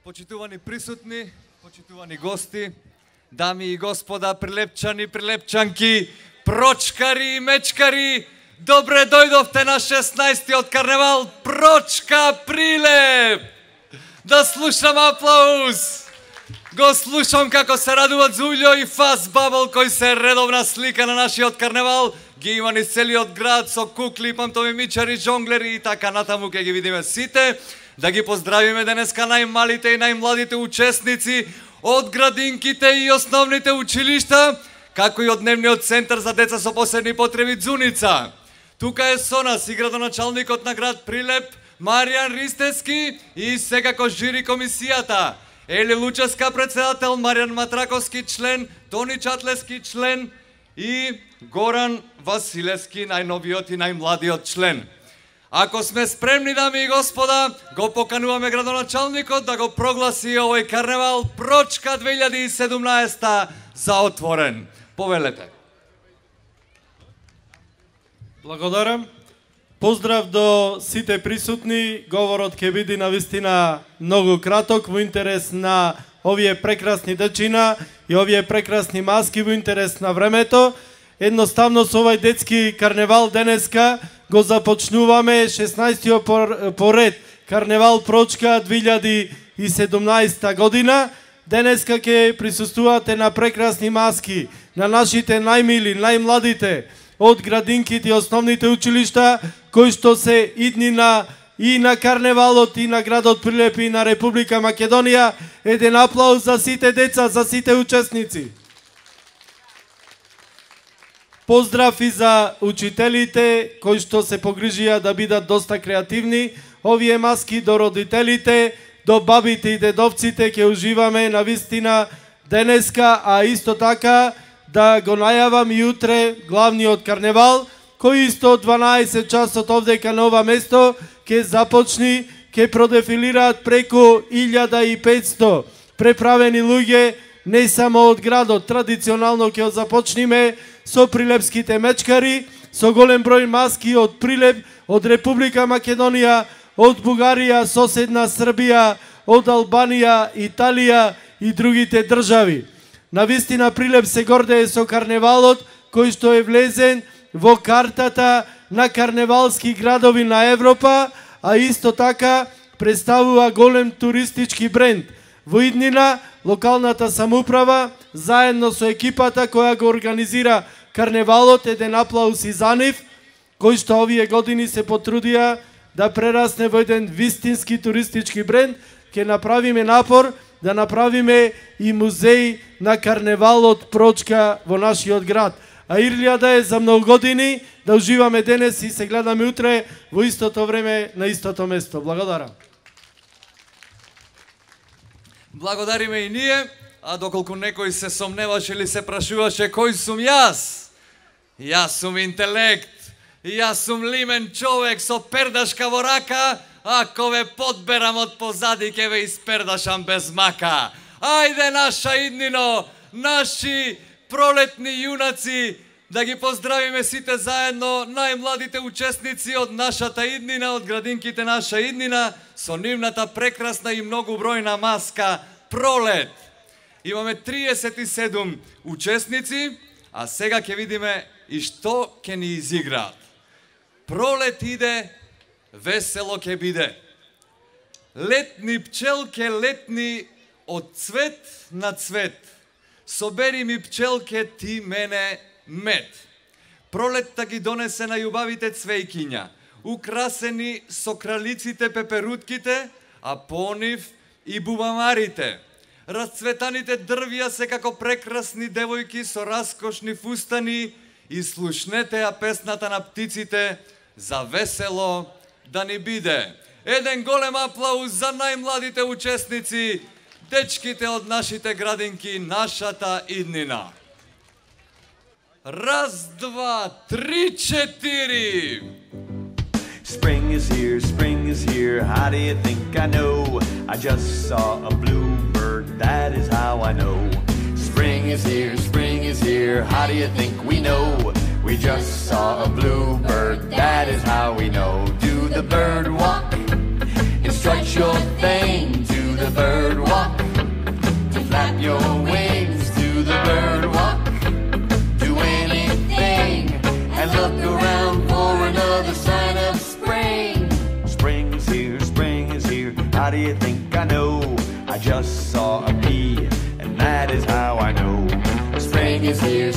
Почитувани присутни, почитувани гости, дами и господа, прилепчани, прилепчанки, прочкари и мечкари, добре дојдовте на 16-тиот карневал Прочка Прилеп! Да слушам аплауз! Го слушам како се радуваат Зулјо и Фас Бабл, кој се редовна слика на нашиот карневал. Ги има низ целиот град со кукли, пантомимичари, жонглери и така натаму ке ги видиме сите. Да ги поздравиме денеска најмалите и најмладите учесници од градинките и основните училишта, како и од дневниот центар за деца со посебни потреби Дзуница. Тука е со нас и градоначалникот на град Прилеп, Маријан Ристевски, и секако жири комисијата. Ели Лучевска председател, Маријан Матраковски член, Тони Чатлески член и Горан Василевски, најновиот и најмладиот член. Ако сме спремни, дами и господа, го покануваме градоначалникот да го прогласи овој карневал Прочка 2017 за отворен. Повелете. Благодарам. Поздрав до сите присутни. Говорот ќе биде навистина многу краток во интерес на овие прекрасни дечина и овие прекрасни маски во интерес на времето. Едноставно со овој детски карневал денеска го започнуваме 16-тиот поред карневал Прочка 2017 година. Денеска ќе присуствувате на прекрасни маски на нашите најмили, најмладите од градинките и основните училишта, кои што се иднина и на карневалот и на градот Прилеп и на Република Македонија. Еден аплауз за сите деца, за сите учесници. Поздрав и за учителите кои што се погрижија да бидат доста креативни. Овие маски до родителите, до бабите и дедовците ќе уживаме навистина денеска, а исто така да го најавам и утре главниот карневал, кој исто од 12 часот овдека на ова место ќе започни, ќе продефилираат преку 1500 преправени луѓе, не само од градот. Традиционално ќе започниме со прилепските мечкари, со голем број маски од Прилеп, од Република Македонија, од Бугарија, соседна Србија, од Албанија, Италија и другите држави. Навистина Прилеп се гордее со карневалот кој што е влезен во картата на карневалски градови на Европа, а исто така представува голем туристички бренд. Во иднина локалната самоуправа заедно со екипата која го организира карневалот, еден аплауз и за нив, кои што овие години се потрудија да прерасне во еден вистински туристички бренд. Ќе направиме напор да направиме и музеј на карневалот Прочка во нашиот град. А ирлијада е за многу години, да уживаме денес и се гледаме утре во истото време на истото место. Благодарам. Благодариме и ние, а доколку некој се сомневаше или се прашуваше кој сум јас? Јас сум интелект, јас сум лимен човек со пердашка во рака, ако ве подберам од позади ке ве испердашам без мака. Ајде наша иднино, наши пролетни јунаци, да ги поздравиме сите заедно, најмладите учесници од нашата иднина, од градинките наша иднина, со нивната прекрасна и многу бројна маска Пролет. Имаме 37 учесници, а сега ќе видиме и што ќе ни изиграат. Пролет иде, весело ќе биде. Летни пчелке летни од цвет на цвет. Собери ми пчелке ти мене мед. Пролетта ги донесе на љубавите цвејкиња, украсени со кралиците пеперутките, а по нив и бубамарите. Расцветаните дрвја се како прекрасни девојки со раскошни фустани и слушнете ја песната на птиците за весело да ни биде. Еден голем аплауз за најмладите учесници, дечките од нашите градинки, нашата иднина. Раз, два, три, четири. Spring is here, how do you think I know? I just saw a bluebird, that is how I know. Spring is here, how do you think we know? We just saw a bluebird, that is how we know. Do the bird walk, and stretch your thing. Do the bird walk, to flap your wings. Do the bird walk, do anything, and look around for another sign of spring. Spring is here, how do you think I know? I just saw a bee, and that is how I know. Spring is here,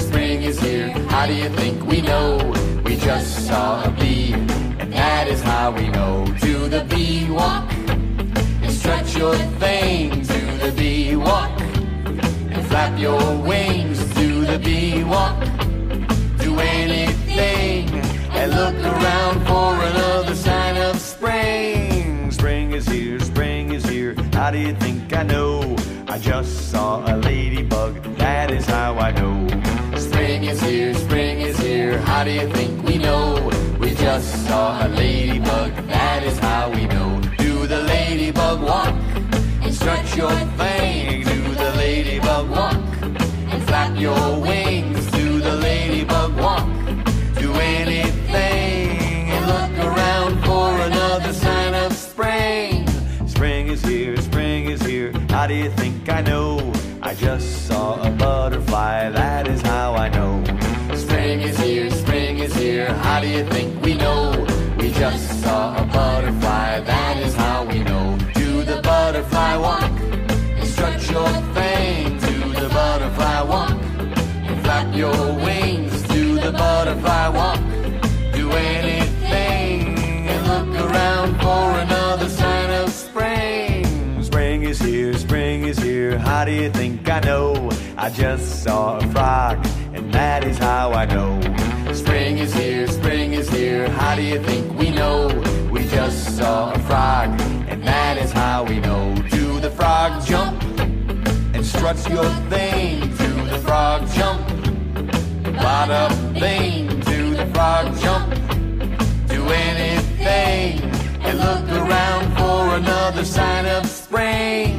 how do you think we know? We just saw a bee, and that is how we know. Do the bee walk, and stretch your thing. Do the bee walk, and flap your wings. Do the bee walk, do anything, and look around for another sign of spring. Spring is here, how do you think I know? I just saw a ladybug, that is how I know. Spring is here, how do you think we know? We just saw a ladybug, that is how we know. Do the ladybug walk, and stretch your thing. Do the ladybug walk, and flap your wings. Do the ladybug walk, do anything, and look around for another sign of spring. Spring is here, how do you think I know? I just saw a butterfly, that is how I know. Spring is here, how do you think we know? We just saw a butterfly, that is how we know. Do the butterfly walk, and stretch your thing. Do the butterfly walk, and flap your wings. Do the butterfly walk, do anything, and look around for another sign of spring. Spring is here, how do you think I know? I just saw a frog, and that is how I know. Spring is here, how do you think we know? We just saw a frog, and that is how we know. Do the frog jump, and strut your thing. Do the frog jump, bada bing. Do the frog jump, do anything, and look around for another sign of spring.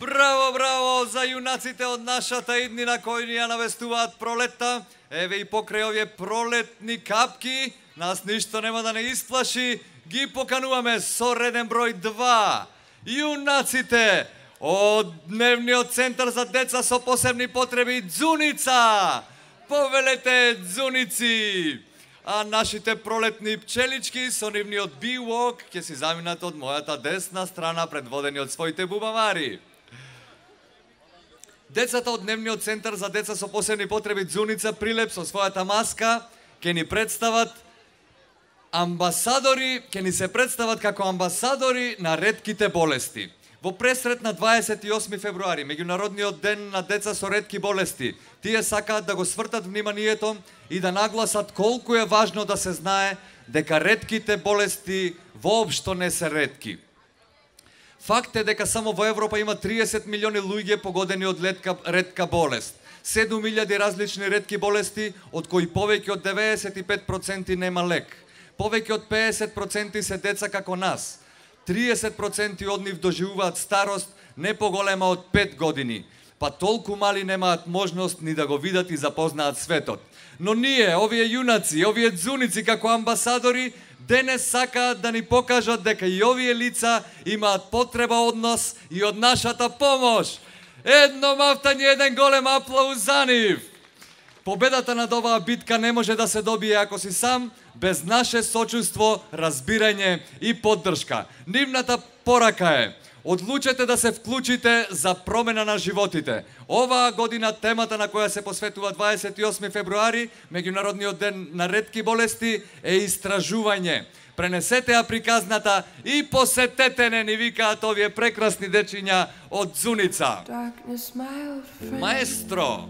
Браво, браво за јунаците од нашата иднина кои ни ја навестуваат пролетта. Еве и покрај овие пролетни капки, нас ништо нема да не исплаши. Ги покануваме со реден број 2. Јунаците од Дневниот центар за деца со посебни потреби Ѕуница. Повелете Ձуници. А нашите пролетни пчелички со нивниот бивок ќе си заминат од мојата десна страна предводени од своите бубамари. Децата од Дневниот центар за деца со посебни потреби Ձуница Прилеп со својата маска ќе ни представат амбасадори, ќе ни се представат како амбасадори на ретките болести. Во пресрет на 28 февруари, меѓународниот ден на деца со ретки болести, тие сакаат да го свртат вниманието и да нагласат колку е важно да се знае дека ретките болести воопшто не се ретки. Факт е дека само во Европа има 30 милиони луѓе погодени од ретка болест. 7.000 различни ретки болести, од кои повеќе од 95% нема лек. Повеќе од 50% се деца како нас. 30% од нив доживуваат старост не поголема од 5 години, па толку мали немаат можност ни да го видат и запознаат светот. Но ние, овие јунаци, овие ձуници како амбасадори, денес сакаат да ни покажат дека и овие лица имаат потреба од нас и од нашата помош. Едно мафтање, еден голем аплауз за нив. Победата над оваа битка не може да се добие ако си сам, без наше сочувство, разбирање и поддршка. Нивната порака е: одлучете да се вклучите за промена на животите. Оваа година темата на која се посветува 28 февруари, меѓународниот ден на ретки болести, е истражување. Пренесете ја приказната и посетете не, ни викаат овие прекрасни дечиња од Ձуница. Маестро!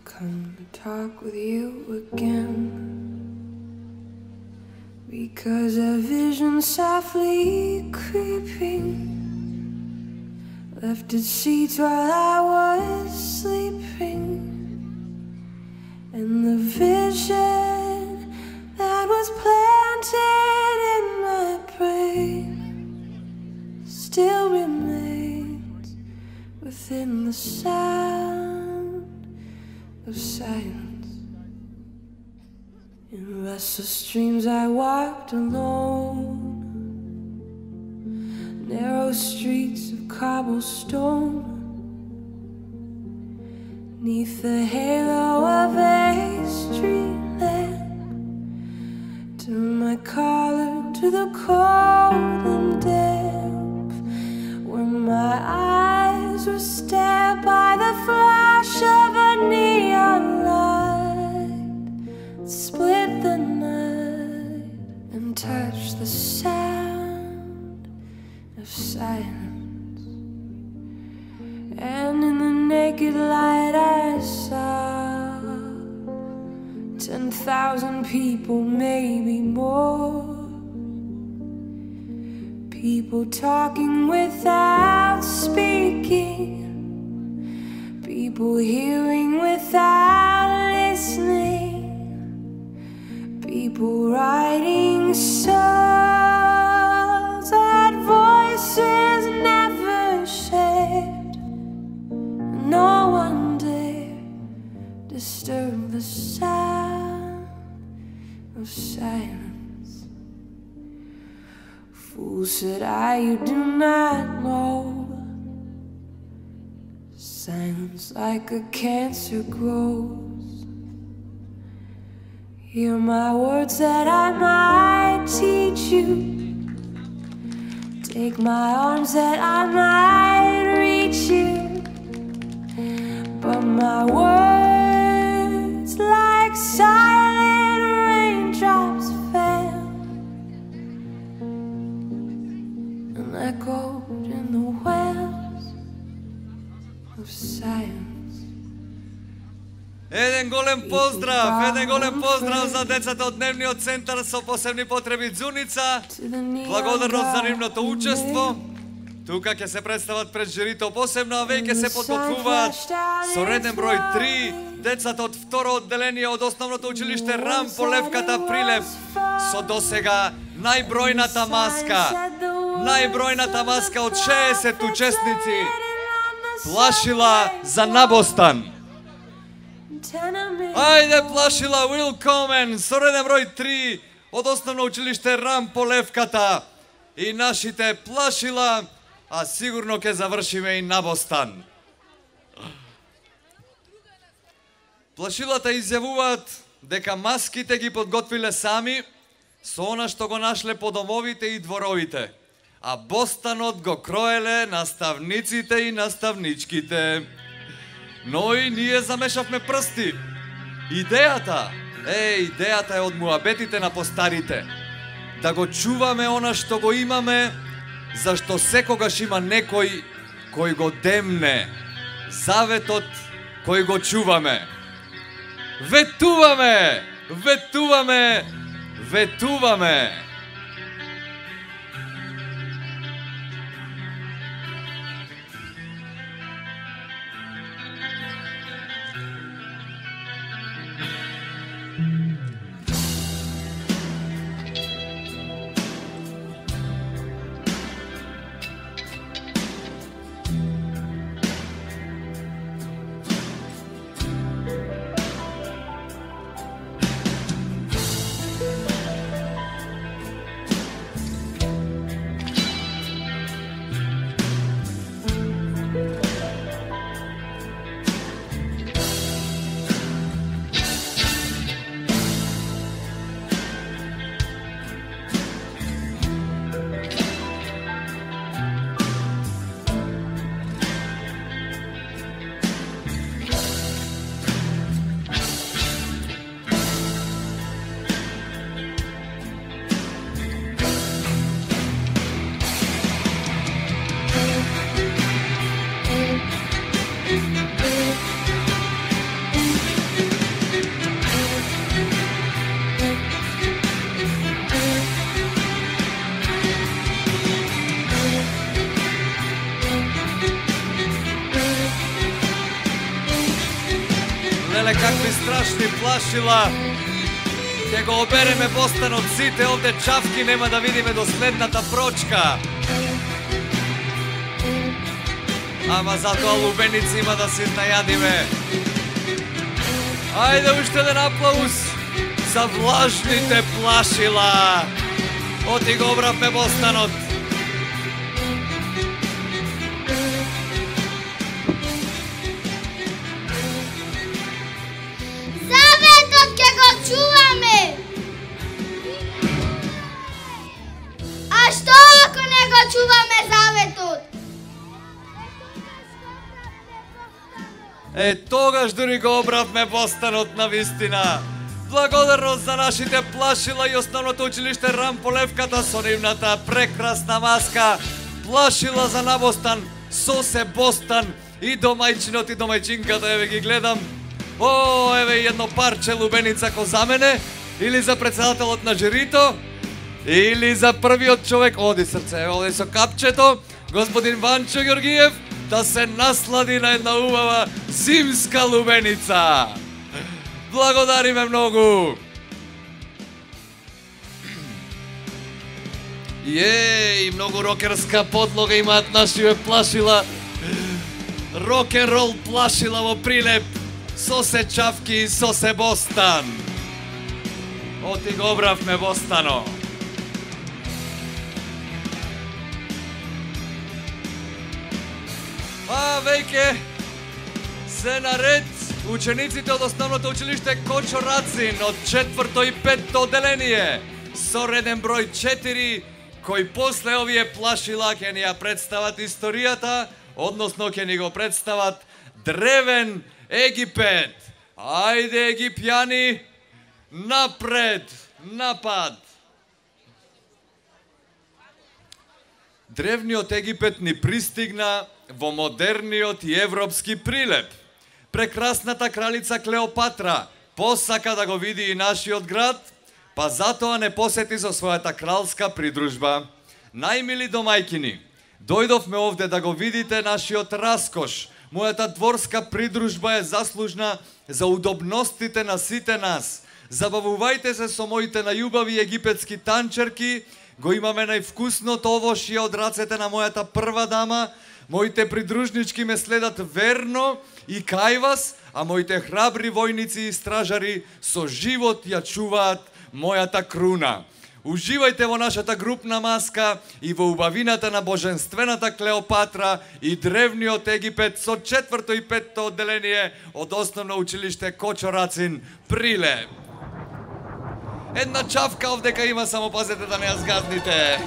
Come to talk with you again, because a vision softly creeping left its seeds while I was sleeping, and the vision that was planted in my brain still remains within the sound of silence. In restless dreams I walked alone, narrow streets of cobblestone, 'neath the halo of a street lamp. Turned my collar to the cold and damp, where my eyes were stared by the flash of a neon light, split the night and touched the sound of silence. And in the naked light I saw 10,000 people, maybe more. People talking without speaking, people hearing without listening, people writing songs that voices never shared. No one dared disturb the sound of silence. Fool, said I, you do not know. Silence like a cancer grows. Hear my words that I might teach you. Take my arms that I might reach you. But my words like silent raindrops fell and echoed in the wells of silence. Еден голем поздрав за децата од Дневниот центар со посебни потреби Ѕуница. Благодарност за нивното учество. Тука ќе се представат пред жирито посебно, а веќе се подготвуваат со реден број 3 децата од второ одделение од основното училиште Рам по Левката Прилеп со досега најбројната маска од 60 учесници. Плашила за Набостан. Ајде Плашила Уилкомен со реден број 3 од основно училиште Рам по Левката и нашите Плашила, а сигурно ќе завршиме и Набостан. Плашилата изјавуваат дека маските ги подготвиле сами со она што го нашле по домовите и дворовите, а Бостанот го кроеле наставниците и наставничките. Но и ние замешавме прсти. Идејата е од муабетите на постарите. Да го чуваме она што го имаме, зашто секогаш има некој кој го демне. Заветот кој го чуваме. Ветуваме! Ветуваме! Ветуваме! Леле, какви страшни плашила. Ке го обереме Бостанот сите, овде чавки нема да видиме до следната прочка. Ама затоа лубеници има да се најадиме. Ајде уште еден аплауз за влажните плашила. Оти го обравме Бостанот. Заветот ќе го чуваме. А што ако не го чуваме заветот? Тогаш дури го обравме Бостанот на вистина. Благодарност за нашите плашила и основното училиште Рамполевката со нивната прекрасна маска. Плашила за Набостан, Сосе Бостан и домајчинот и домајчинката, еве ги гледам. О, еве едно парче лубеница ко за мене, или за председателот на жирито, или за првиот човек, оди срце, оди со капчето, господин Ванчо Ѓоргиев, да се наслади на една убава зимска лубеница. Благодариме многу. И многу рокерска подлога имаат нашиве плашила. Рок-н-рол плашила во прилеп. Сосе чавки и сосе Бостан. Оти го обравме Бостано. А веќе се наред учениците од основното училиште Кочо Рацин од 4-то и 5-то одделение со реден број 4, кој после овие плашила ќе ни ја представат историјата, односно ќе ни го представат древен Египет. Ајде египјани, напред, напад! Древниот Египет ни пристигна во модерниот и европски прилеп. Прекрасната кралица Клеопатра посака да го види и нашиот град, па затоа не посети со својата кралска придружба. Најмили домајкини, дојдовме овде да го видите нашиот раскош. Мојата дворска придружба е заслужна за удобностите на сите нас. Забавувајте се со моите најубави египетски танчерки, го имаме највкусното овошје од рацете на мојата прва дама. Моите придружнички ме следат верно и кај вас, а моите храбри војници и стражари со живот ја чуваат мојата круна. Уживајте во нашата групна маска и во убавината на боженствената Клеопатра и древниот Египет со 4-то и 5-то одделение од основно училиште Кочо Рацин, Прилеп. Една чавка овдека има, само пазете да не ја згазните.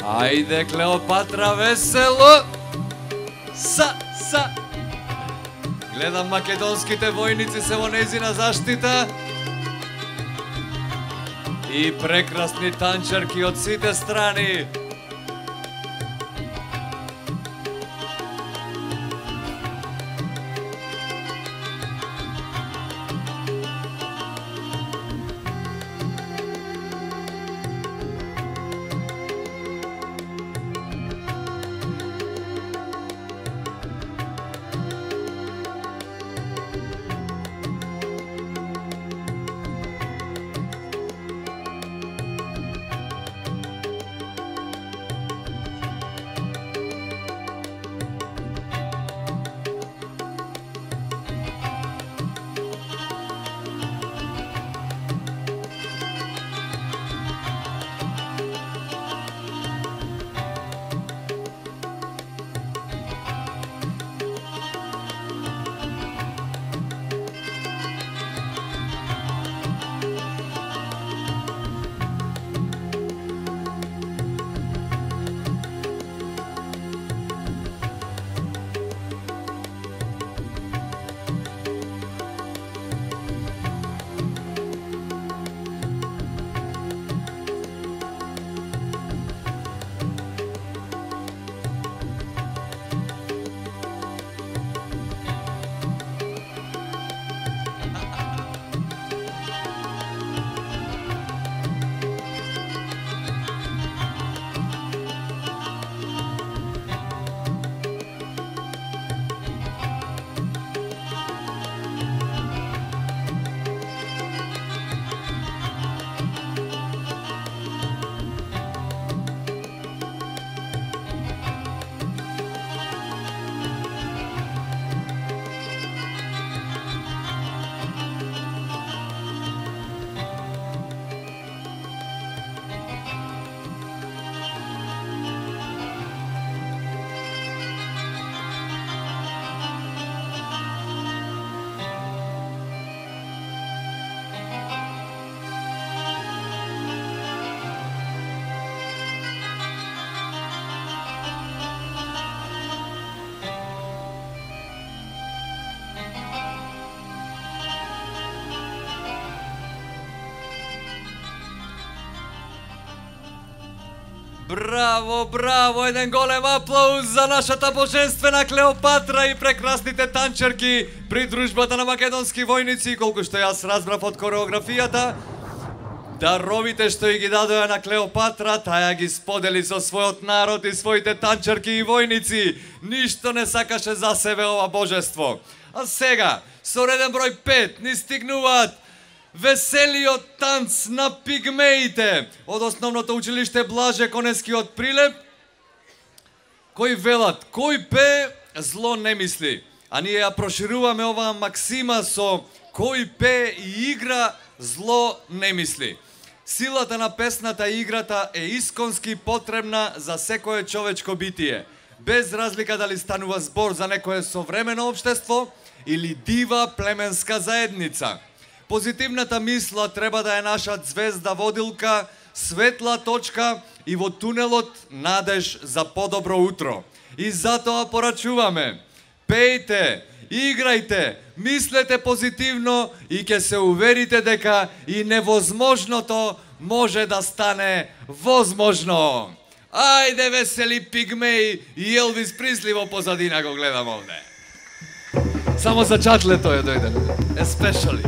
Ајде, Клеопатра, весело! Гледам македонските војници се во нејзина заштита. И прекрасни танчерки од сите страни. Браво, браво, еден голем аплауз за нашата божествена Клеопатра и прекрасните танчерки при дружбата на македонски војници. Колку што јас разбрав од кореографијата, даровите што и ги дадоа на Клеопатра, таја ги сподели со својот народ и своите танчерки и војници. Ништо не сакаше за себе ова божество. А сега, со реден број 5, ни стигнуваат веселиот танц на пигмеите од основното училиште Блаже Конески од Прилеп, кои велат: кој пее, зло не мисли. А ние ја прошируваме оваа максима со: кој пее и игра, зло не мисли. Силата на песната и играта е исконски потребна за секое човечко битие, без разлика дали станува збор за некое современо општество или дива племенска заедница. Позитивната мисла треба да е наша звезда водилка, светла точка и во тунелот надеж за подобро утро. И затоа порачуваме: пејте, играјте, мислете позитивно и ќе се уверите дека и невозможното може да стане возможно. Ајде, весели пигмеи, и Елвис Присли во позадина го гледам овде. Само за чатле тој дојде, especially.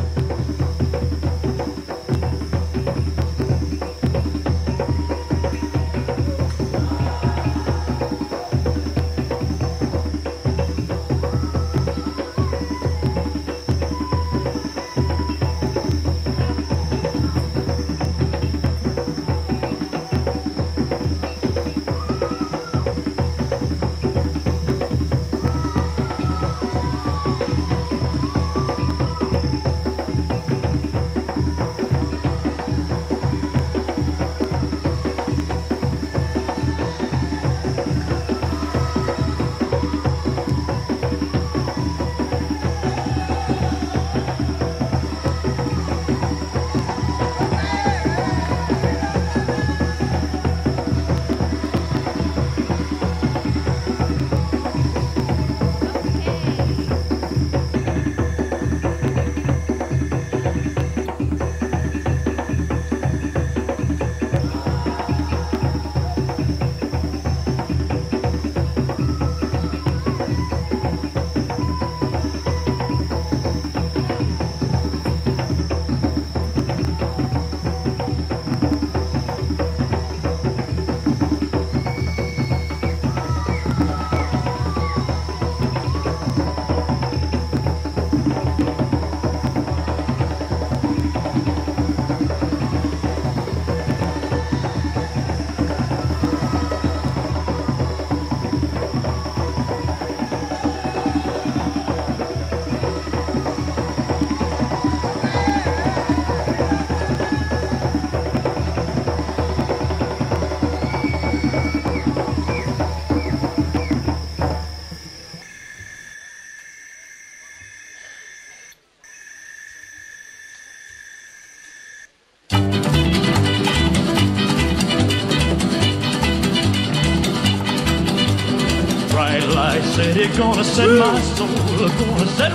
said he's gonna set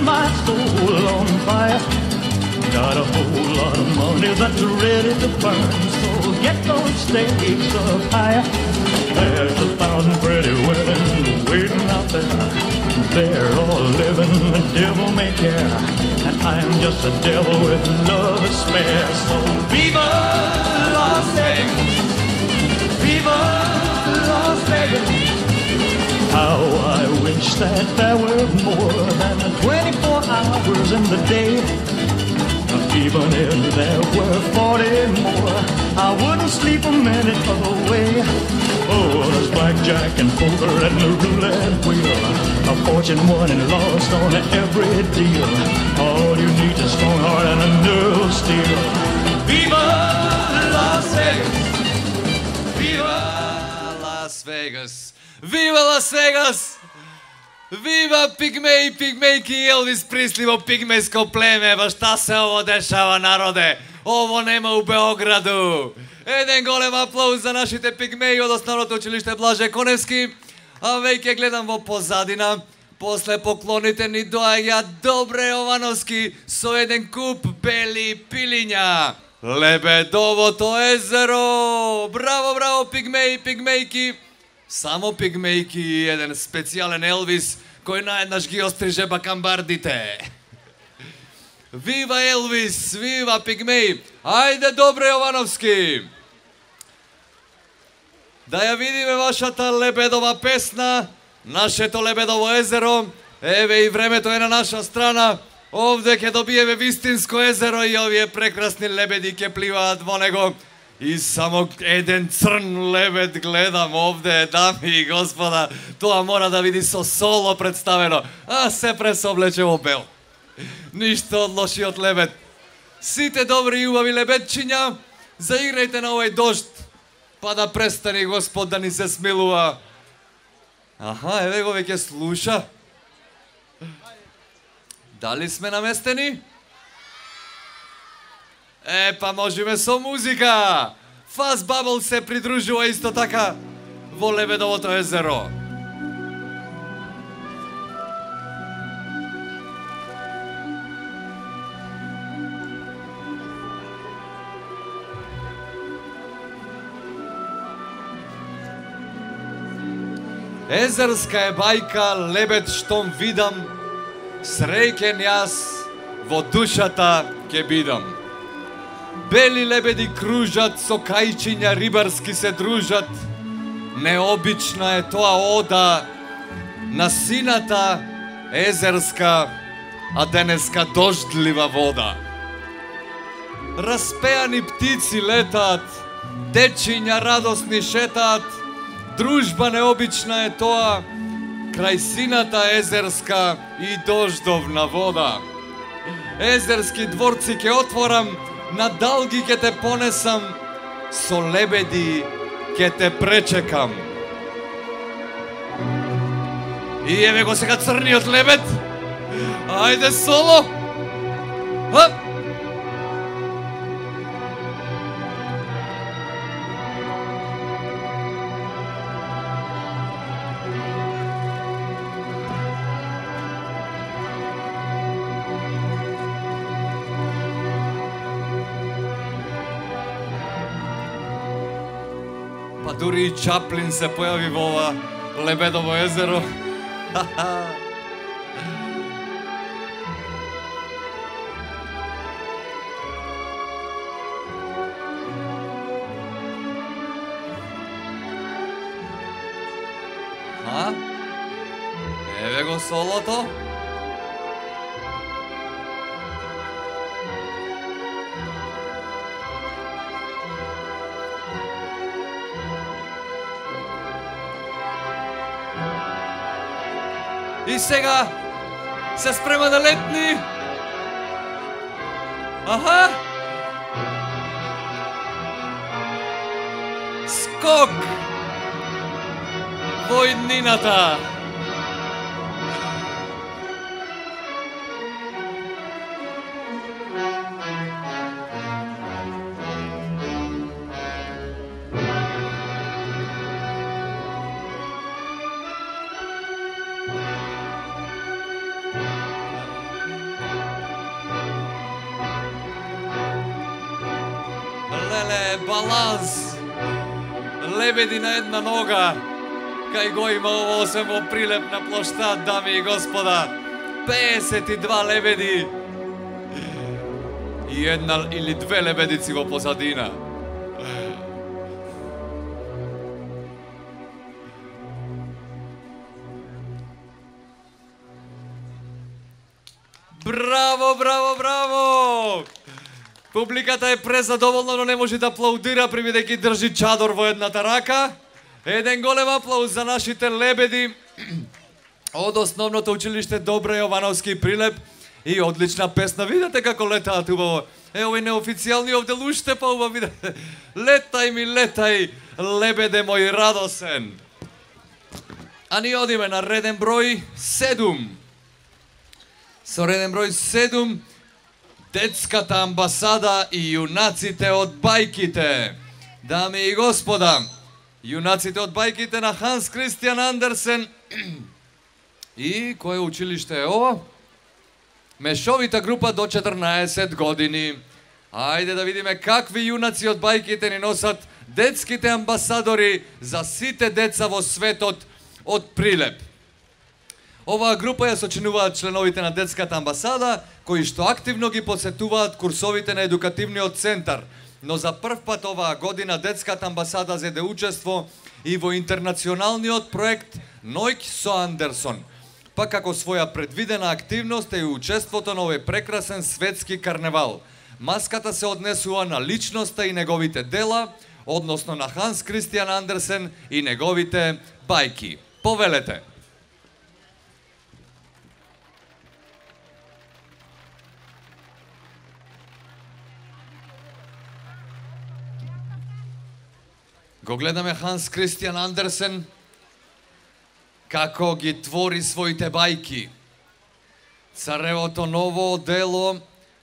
my soul on fire. Got a whole lot of money that's ready to burn, so get those stakes up higher. There's 1,000 pretty women waiting out there. They're all living the devil may care, and I'm just a devil with love to spare. So viva Las Vegas, viva Las Vegas. How I wish that there were more than 24 hours in the day. Even if there were 40 more, I wouldn't sleep a minute away. Oh, there's blackjack and poker and the roulette wheel, a fortune won and lost on every deal. All you need is a strong heart and a nerve of steel. Viva Las Vegas! Viva Las Vegas! Viva Las Vegas! Viva Пигмеи, Пигмейки и Елвис Присли во пигмејско племе. Ба шта се ово дешава, народе? Ово нема у Београду. Еден голем аплауз за нашите пигмеи од Основното училиште Блаже Коневски. А веќе гледам во позадина, после поклоните ни доаѓа Добре Јовановски со еден куп бели пилиња. Лебедовото езеро! Браво, браво, пигмеи, пигмејки! Само пигмејки и еден специјален Елвис кој наеднаш ги остриже бакамбардите. Вива Елвис, вива пигмеи! Ајде, Добре Јовановски! Да ја видиме вашата лебедова песна, нашето лебедово езеро. Еве и времето е на наша страна. Овде ќе добиеме вистинско езеро и овие прекрасни лебеди ќе пливаат во него. И само еден црн лебед гледам овде, дами и господа. Тоа мора да види со соло представено, а се пресоблече во бел. Ништо од лошиот лебед. Сите добри и убави лебедчиња, заиграјте на овој дожд, па да престани Господ да ни се смилува. Аха, еве го веќе слуша. Дали сме наместени? Па можеме со музика. Fast Bubble се придружува исто така во Лебедовото езеро. Езерска е бајка, лебед штом видам, среќен јас во душата ке бидам. Бели лебеди кружат, со кајчиња рибарски се дружат. Необична е тоа ода на сината езерска, а денеска дождлива вода. Распеани птици летаат, дечиња радосни шетаат. Дружба необична е тоа, крај сината езерска и дождовна вода. Езерски дворци ке отворам, на далги ке те понесам, со лебеди ке те пречекам. И еве го сега црниот лебед. Ајде соло. Хоп. Дури и Чаплин се појави во ова Лебедово езеро. Еве го солото. И сега се спрема да летни. Аха! Скок во иднината. леле, баланс. Лебеди на една нога. Кај го има ово освен во Прилеп на плоштад, дами и господа. 52 лебеди. И една или две лебедици во позадина. Браво, браво, браво! Публиката е презадоволна, но не може да аплаудира бидејќи држи чадор во едната рака. Еден голем аплауз за нашите лебеди од основното училиште Добра Јовановски Прилеп и одлична песна. Видете како летаат убаво. Овој неофицијални овде луште па убаво видете. Летај ми, летај, лебеде мој радосен. А ни одиме на реден број 7. Со реден број 7, детската амбасада и јунаците од бајките. Дами и господа, јунаците од бајките на Ханс Кристијан Андерсен. И кое училиште е ова? Мешовита група до 14 години. Ајде да видиме какви јунаци од бајките ни носат детските амбасадори за сите деца во светот од Прилеп. Оваа група ја сочинуваат членовите на детската амбасада, кои што активно ги посетуваат курсовите на едукативниот центар. Но за прв пат оваа година детската амбасада зеде учество и во интернационалниот проект Нојк со Андерсон. Па како своја предвидена активност е и учеството на овој прекрасен светски карневал. Маската се однесува на личноста и неговите дела, односно на Ханс Кристијан Андерсен и неговите бајки. Повелете. Го гледаме Ханс Кристијан Андерсен како ги твори своите бајки. Царевото ново дело,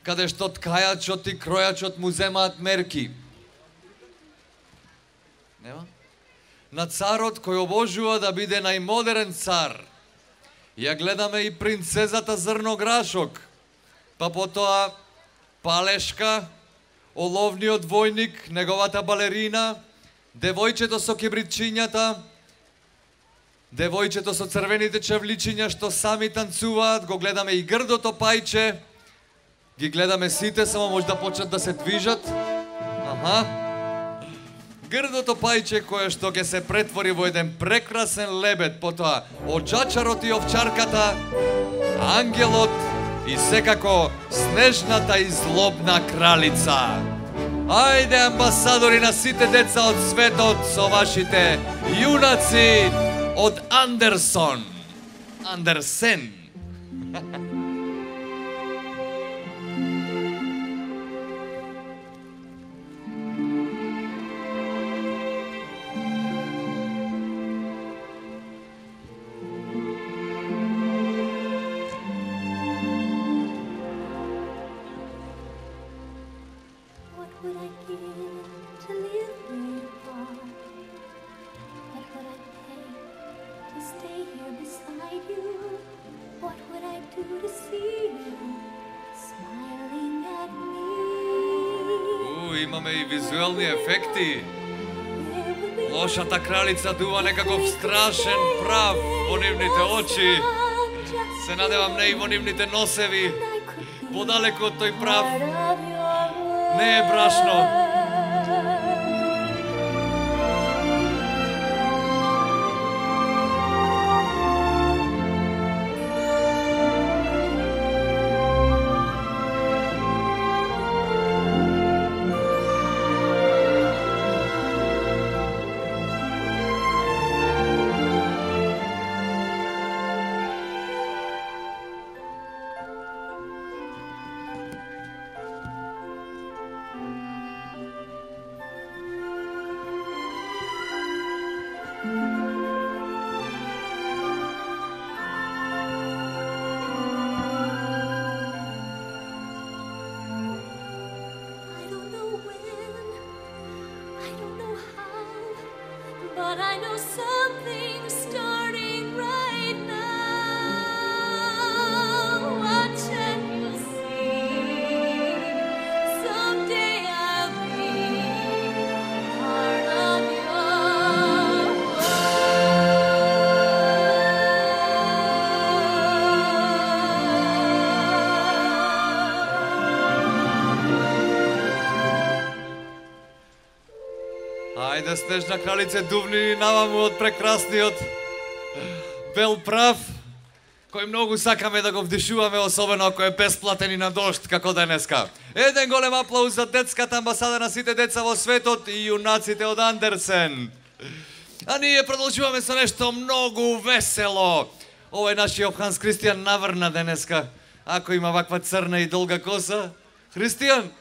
каде што ткајачот и кројачот му земаат мерки. Нема? На царот кој обожува да биде најмодерен цар. Ја гледаме и принцезата Зрнограшок, па потоа Палешка, оловниот војник, неговата балерина, девојчето со кибритчињата, девојчето со црвените чевличиња што сами танцуваат, го гледаме и грдото пајче, ги гледаме сите, само може да почнат да се движат. Аха. Грдото пајче кое што ќе се претвори во еден прекрасен лебед, потоа оджачарот и овчарката, ангелот и секако снежната и злобна кралица. Ајде, амбасадори на сите деца од светот со вашите јунаци од Андерсон. Андерсен. Имаме и визуелни ефекти. Лошата кралица дува некаков страшен прав во нивните очи. Се надевам не и во нивните носеви. Подалеку од тој прав не е брашно. Ајде, снежна кралице, дувни наваму од прекрасниот бел прав, кој многу сакаме да го вдишуваме, особено ако е бесплатен и на дожд, како денеска. Еден голем аплауз за детската амбасада на сите деца во светот и јунаците од Андерсен. А ние продолжуваме со нешто многу весело. Овој нашиот Ханс Кристијан наврна денеска. Ако има ваква црна и долга коса. Христијан?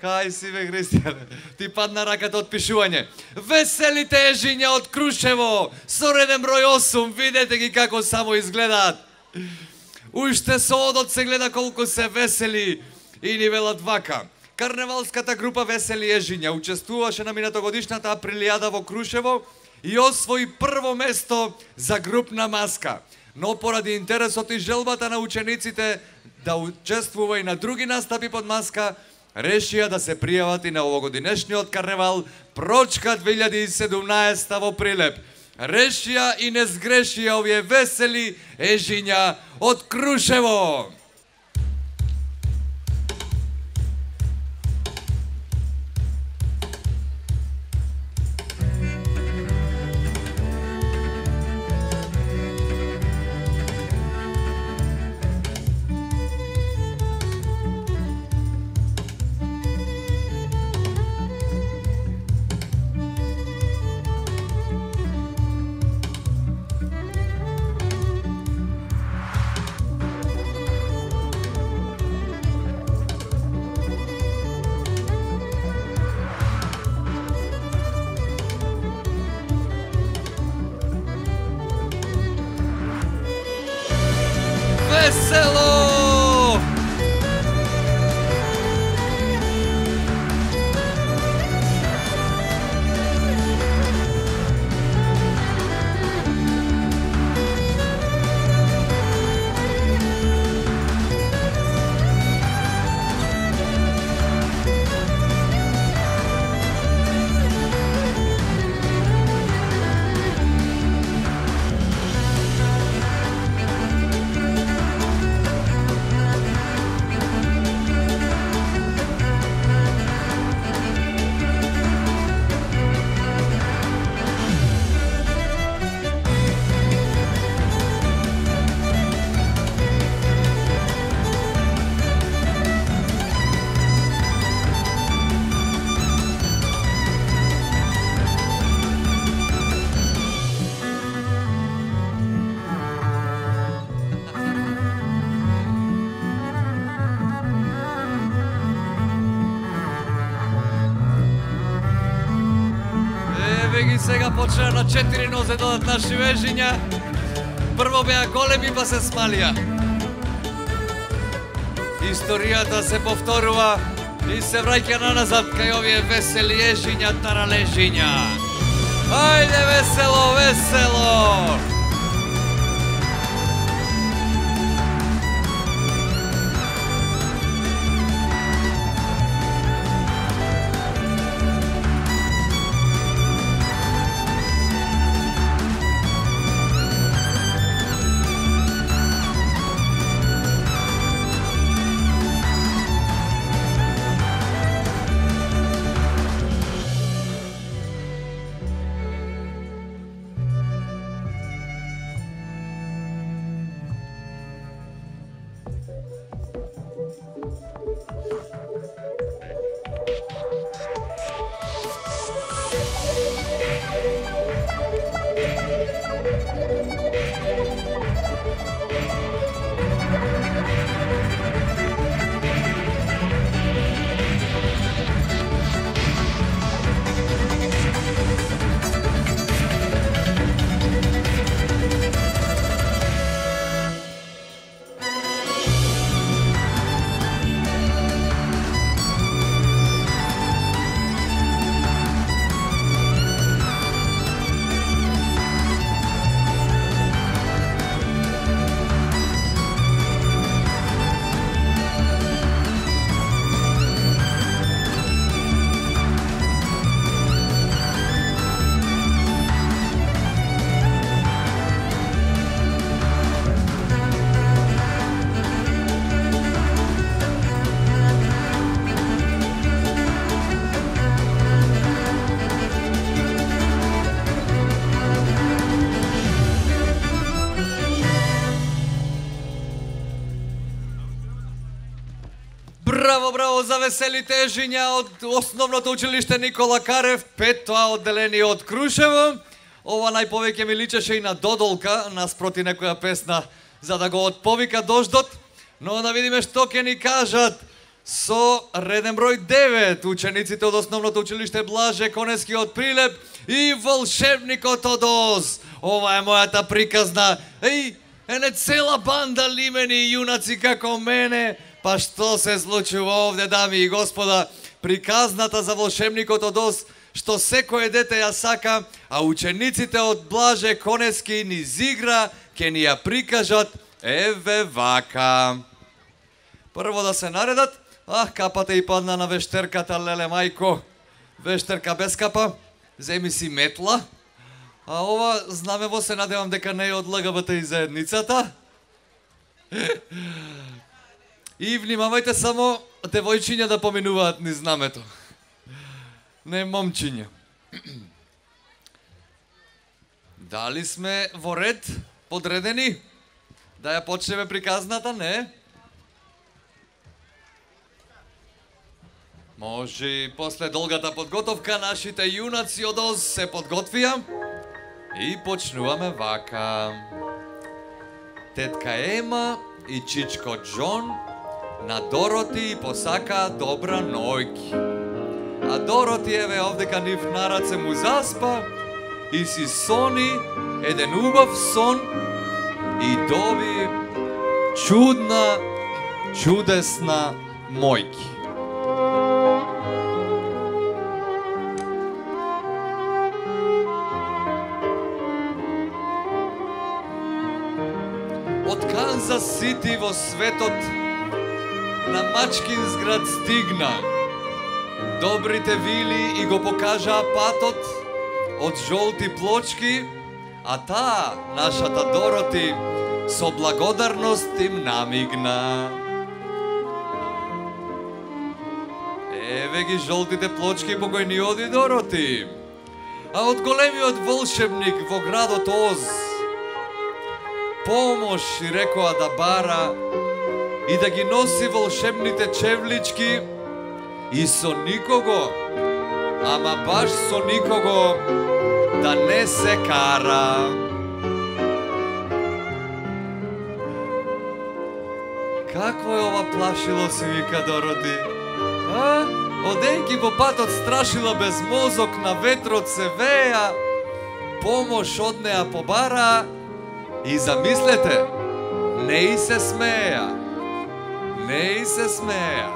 Кај си бе, Христијан? Ти падна раката од пишување. Веселите ежиња од Крушево, со реден број 8, видете ги како само изгледаат. Уште со одот се гледа колку се весели и ни велат вака. Карневалската група Весели ежиња учествуваше на минатогодишната априлијада во Крушево и освои прво место за групна маска. Но поради интересот и желбата на учениците да учествува и на други настапи под маска, решија да се пријават и на овогодинешниот карневал Прочка 2017 во Прилеп. Решија и не сгрешија овие весели ежиња од Крушево. Весело! Сега почна на 4 нозе додат наши вежиња. Прво беа големи па се смалија. Историјата се повторува и се враќа на назад кај овие весели ежиња, таралежиња. Ајде весело, весело! Браво, браво за весели тежиња од основното училиште Никола Карев, 5-то одделение од Крушево. Ова најповеќе ми личеше и на Додолка, наспроти некоја песна за да го отповика дождот. Но да видиме што ќе ни кажат со реден број 9 учениците од основното училиште Блаже Конески од Прилеп и волшебникот од Оз. Ова е мојата приказна. Ене цела банда лимени и јунаци како мене. Па што се случува овде, дами и господа? Приказната за волшебникот од Оз, што секое дете ја сака, а учениците од Блаже Конески низ игра ќе ни ја прикажат еве вака. Прво да се наредат. Капата и падна на вештерката, леле мајко. Вештерка без капа, земи си метла. А ова знамево се надевам дека не е од ЛГБТ и заедницата. И внимавајте само девојчиња да поминуваат низ знамето. Не момчиња. Дали сме во ред, подредени? Да ја почнеме приказната, не? Може и после долгата подготовка нашите јунаци од Оз се подготвија и почнуваме вака. Тетка Ема и чичко Џон на Дороти посака добра ноќ. А Дороти еве овдека нив на раце му заспа и си сони еден убав сон и доби чудна, чудесна мојки. Од Канзас Сити во светот на Мачкинс град стигна. Добрите вили и го покажаа патот од жолти плочки, а таа, нашата Дороти, со благодарност им намигна. Еве ги жолтите плочки по кои ни оди Дороти. А од големиот волшебник во градот Оз помош и рекоа да бара и да ги носи волшебните чевлички и со никого, ама баш со никого, да не се кара. Какво е ова плашило, си вика Дороти? Одејќи по патот страшила без мозок, на ветрот се веја, помош од неа побара и замислете, не и се смеја. Не и се смеја.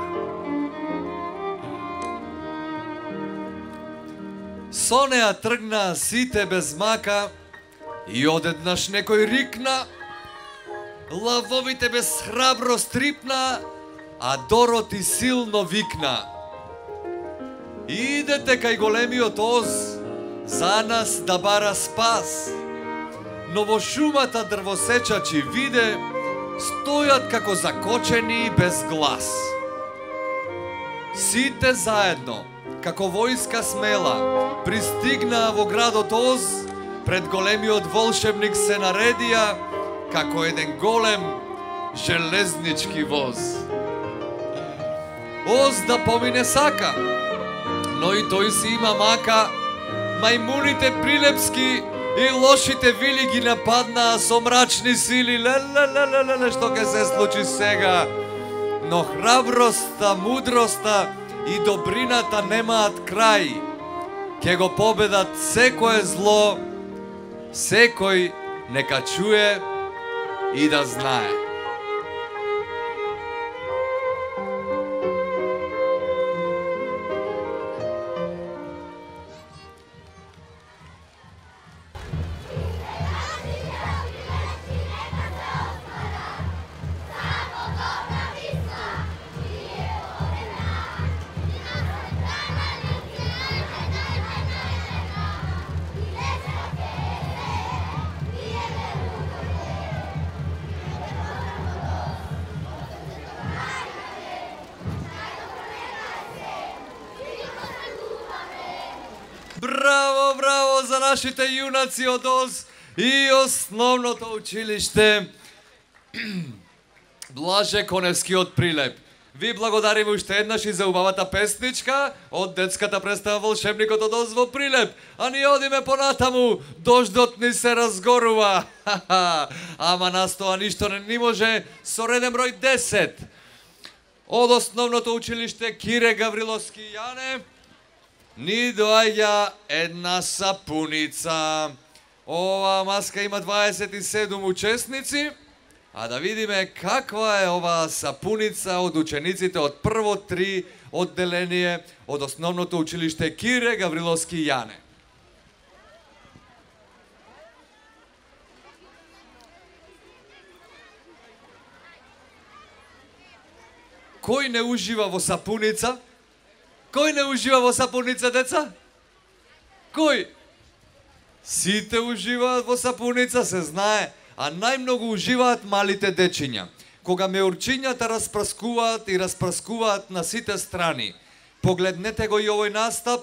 Со неа тргнаа сите без мака и одеднаш некој рикна, лавовите без храбро стрипна, а Дороти силно викна. Идете кај големиот Оз, за нас да бара спас. Но во шумата дрвосечачи виде, стојат како закочени без глас. Сите заедно, како војска смела, пристигнаа во градот Оз, пред големиот волшебник се наредија, како еден голем железнички воз. Оз да помине сака, но и тој си има мака, мајмуните прилепски и лошите вили ги нападнаа со мрачни сили. Лелелелелеле, што ќе се случи сега? Но храброста, мудроста и добрината немаат крај. Ке го победат секое зло, секој нека чуе и да знае. Браво, браво за нашите јунаци од Оз и основното училиште Блаже Коневски од Прилеп. Ви благодариме уште еднаш и за убавата песничка од детската представа Волшебникот од Оз во Прилеп. А ние одиме понатаму, дождот ни се разгорува. Ама нас тоа ништо не може со реден број 10. Од основното училиште Кире Гавриловски Јане ни доаѓа една сапуница. Ова маска има 27 учесници. А да видиме каква е оваа сапуница од учениците од прво 3 одделение од основното училиште Кире Гавриловски Јане. Кој не ужива во сапуница? Кој не ужива во сапуница, деца? Кој? Сите уживаат во сапуница, се знае. А најмногу уживаат малите дечиња. Кога меурчињата распраскуваат и распраскуваат на сите страни. Погледнете го и овој настап.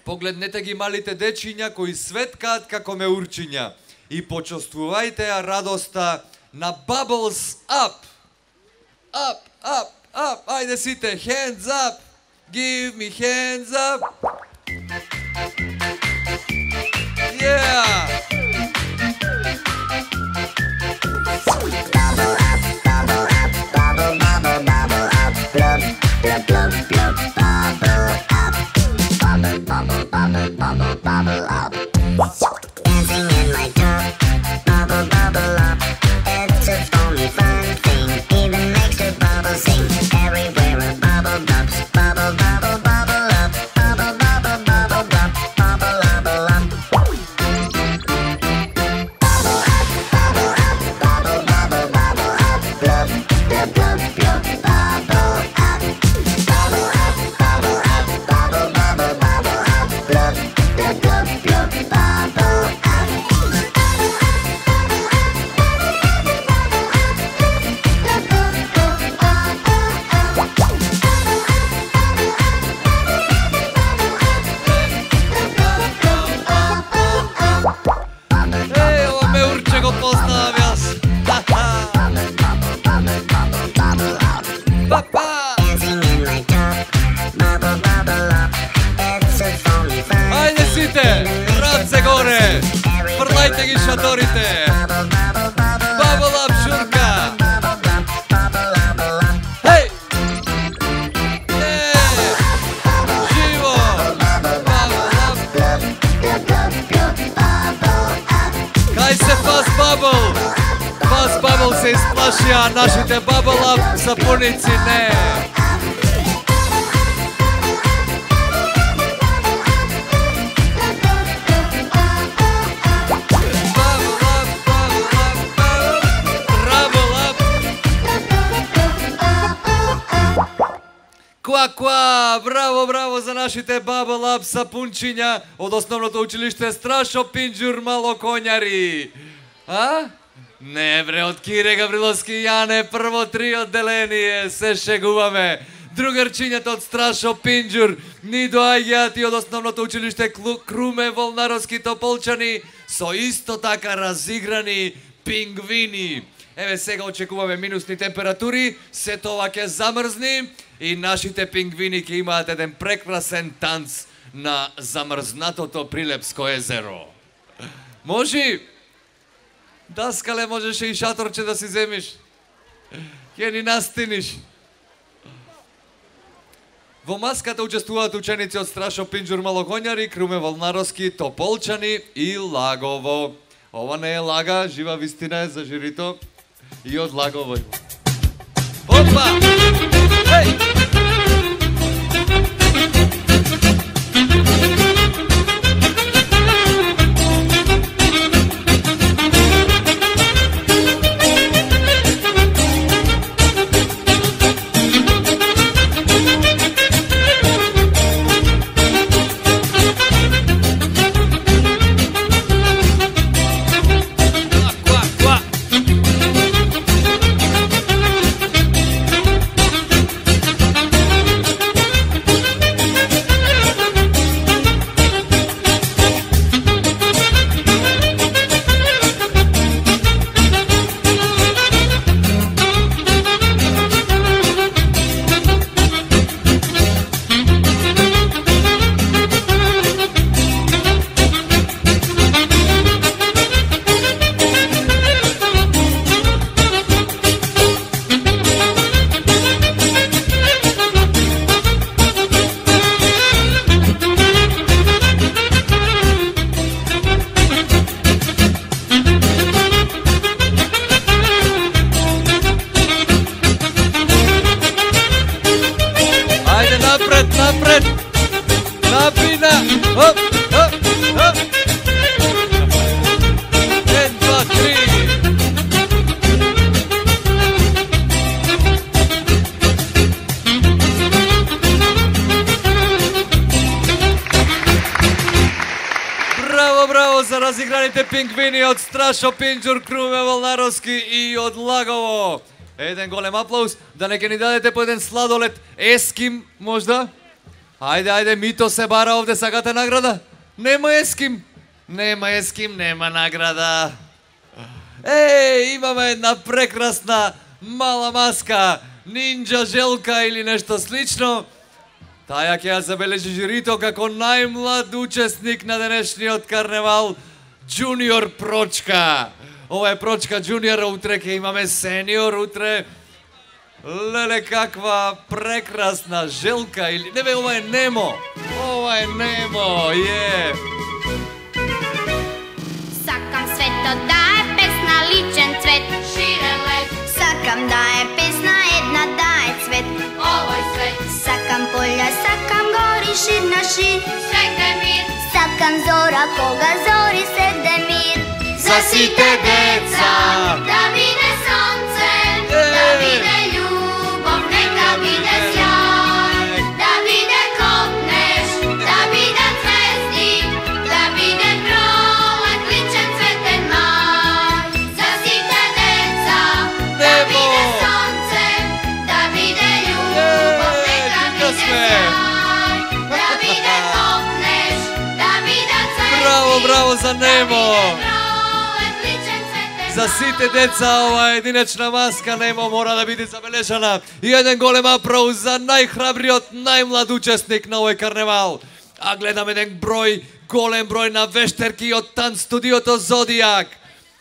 Погледнете ги малите дечиња кои светкаат како меурчиња. И почувствувајте ја радоста на Bubbles Up. Up, up, up. Ајде сите, hands up. Give me hands up. Yeah. Bubble up. Dancing in my tub, bubble, bubble up. It's a foamy fun thing, even makes the bubble sing. Everywhere a bubble bubbles, bubble, bubble, bubble up. Bubble, bubble, bubble, bubble, bubble, bubble up. Bubble up, bubble up, bubble, bubble, bubble up. Blub, blub, blub, blub, bubble up. Bubble up, bubble up, bubble, bubble, bubble up. Blub, blub, blub, blub, bubble up. Еј, ова ме урче го познавам јас. Папа! Dancing in my tub, bubble, bubble up. It's a foamy fun. Ајде сите, раце горе. Фрлајте ги шаторите. Bubble, bubble, bubble up. Bubble up, шурка. Bubble, bubble, bubble, bubble up. Хеј! Живо! Bubble up. Blub, blub, blub, blub, bubble up. Кај се Fast Bubble? Fast Bubble се исплашија, нашите Bubble Up сапуници не. Bubble up, bubble up, bubble up. Ква, браво, браво за нашите Bubble Up сапунчиња од основното училиште Страшо Пинџур Малокоњари. А? Не бре, од Кире Гавриловски Јане, прво 3 одделение, се шегуваме. Другарчињата од Страшо Пинџур ни доаѓаат и од основното училиште Круме Волнаровски Тополчани со исто така разиграни пингвини. Еве сега очекуваме минусни температури, се тоа ќе замрзни и нашите пингвини ќе имаат еден прекрасен танц на замрзнатото Прилепско езеро. Можи? Даскале, можеше и шаторче да си земиш. Ќе ни настиниш. Во маската учествуваат ученици од Страшо Пинџур Малокоњари, Круме Волнаровски Тополчани и Лагово. Ова не е лага, жива вистина е за жирито и од Лагово. Опа! Еј! Ква, ква, ква. напред, напред. Напина. Оп, оп, оп. 1, 2, 3. Браво за разиграните пингвини од Страшо Пинџур, Круме Волнаровски и од Лагово. Еден голем аплауз, да не ке ни дадете по еден сладолед Еским, можда? Ајде, Мито се бара овде, сакате награда? Нема Еским, нема награда. Имаме една прекрасна мала маска, нинџа желка или нешто слично. Таја ќе ја забележи жирито како најмлад учесник на денешниот карневал, Джуниор Прочка. Ова е Прочка Джуниор, утре ќе имаме сениор, утре... Леле, каква прекрасна желка или... Не бе, ова е Немо. Ова е Немо, е. Сакам светот да е песна, личен цвет, ширен лед. Сакам да е песна, една да е цвет, овој свет. Сакам полја, сакам гори, шир на шир, свегде мир. Сакам зора, кога зори свегде мир. За сите деца да биде сонце, да биде љубов, нека биде сјај. Да биде копнеш, да биде звезди, да биде пролет, личен цветен мај. За сите деца да биде сонце, да биде љубов, нека биде сјај. Да биде копнеш, да биде звезди. Браво за Немо! За сите деца ова единечна маска Немо мора да биде забележана. И еден голем аплауз за најхрабриот, најмлад учесник на овој карневал. А гледам еден голем број на вештерки од танц студиото Зодијак.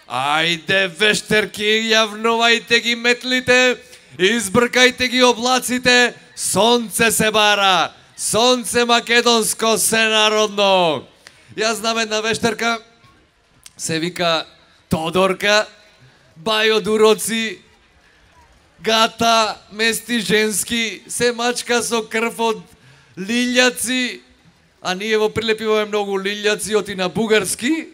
Ајде вештерки, јавнувајте ги метлите, избркајте ги облаците, сонце се бара, сонце македонско сенародно. Јас знам една вештерка, се вика Тодорка, бајо дуроци, гата, мести женски, се мачка со крв од лилјаци, а ние во Прилеп имаме многу лилјаци, оти на бугарски,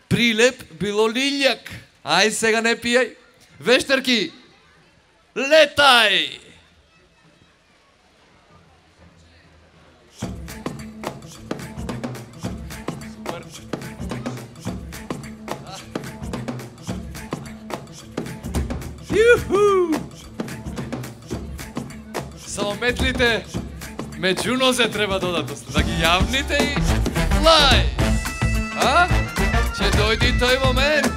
Прилеп било лилјак. Ај сега не пијај. Вештерки, летај! Само метлите меѓу нозе треба додатост, да ги јавните и флај. А? Ќе дојди тој момент.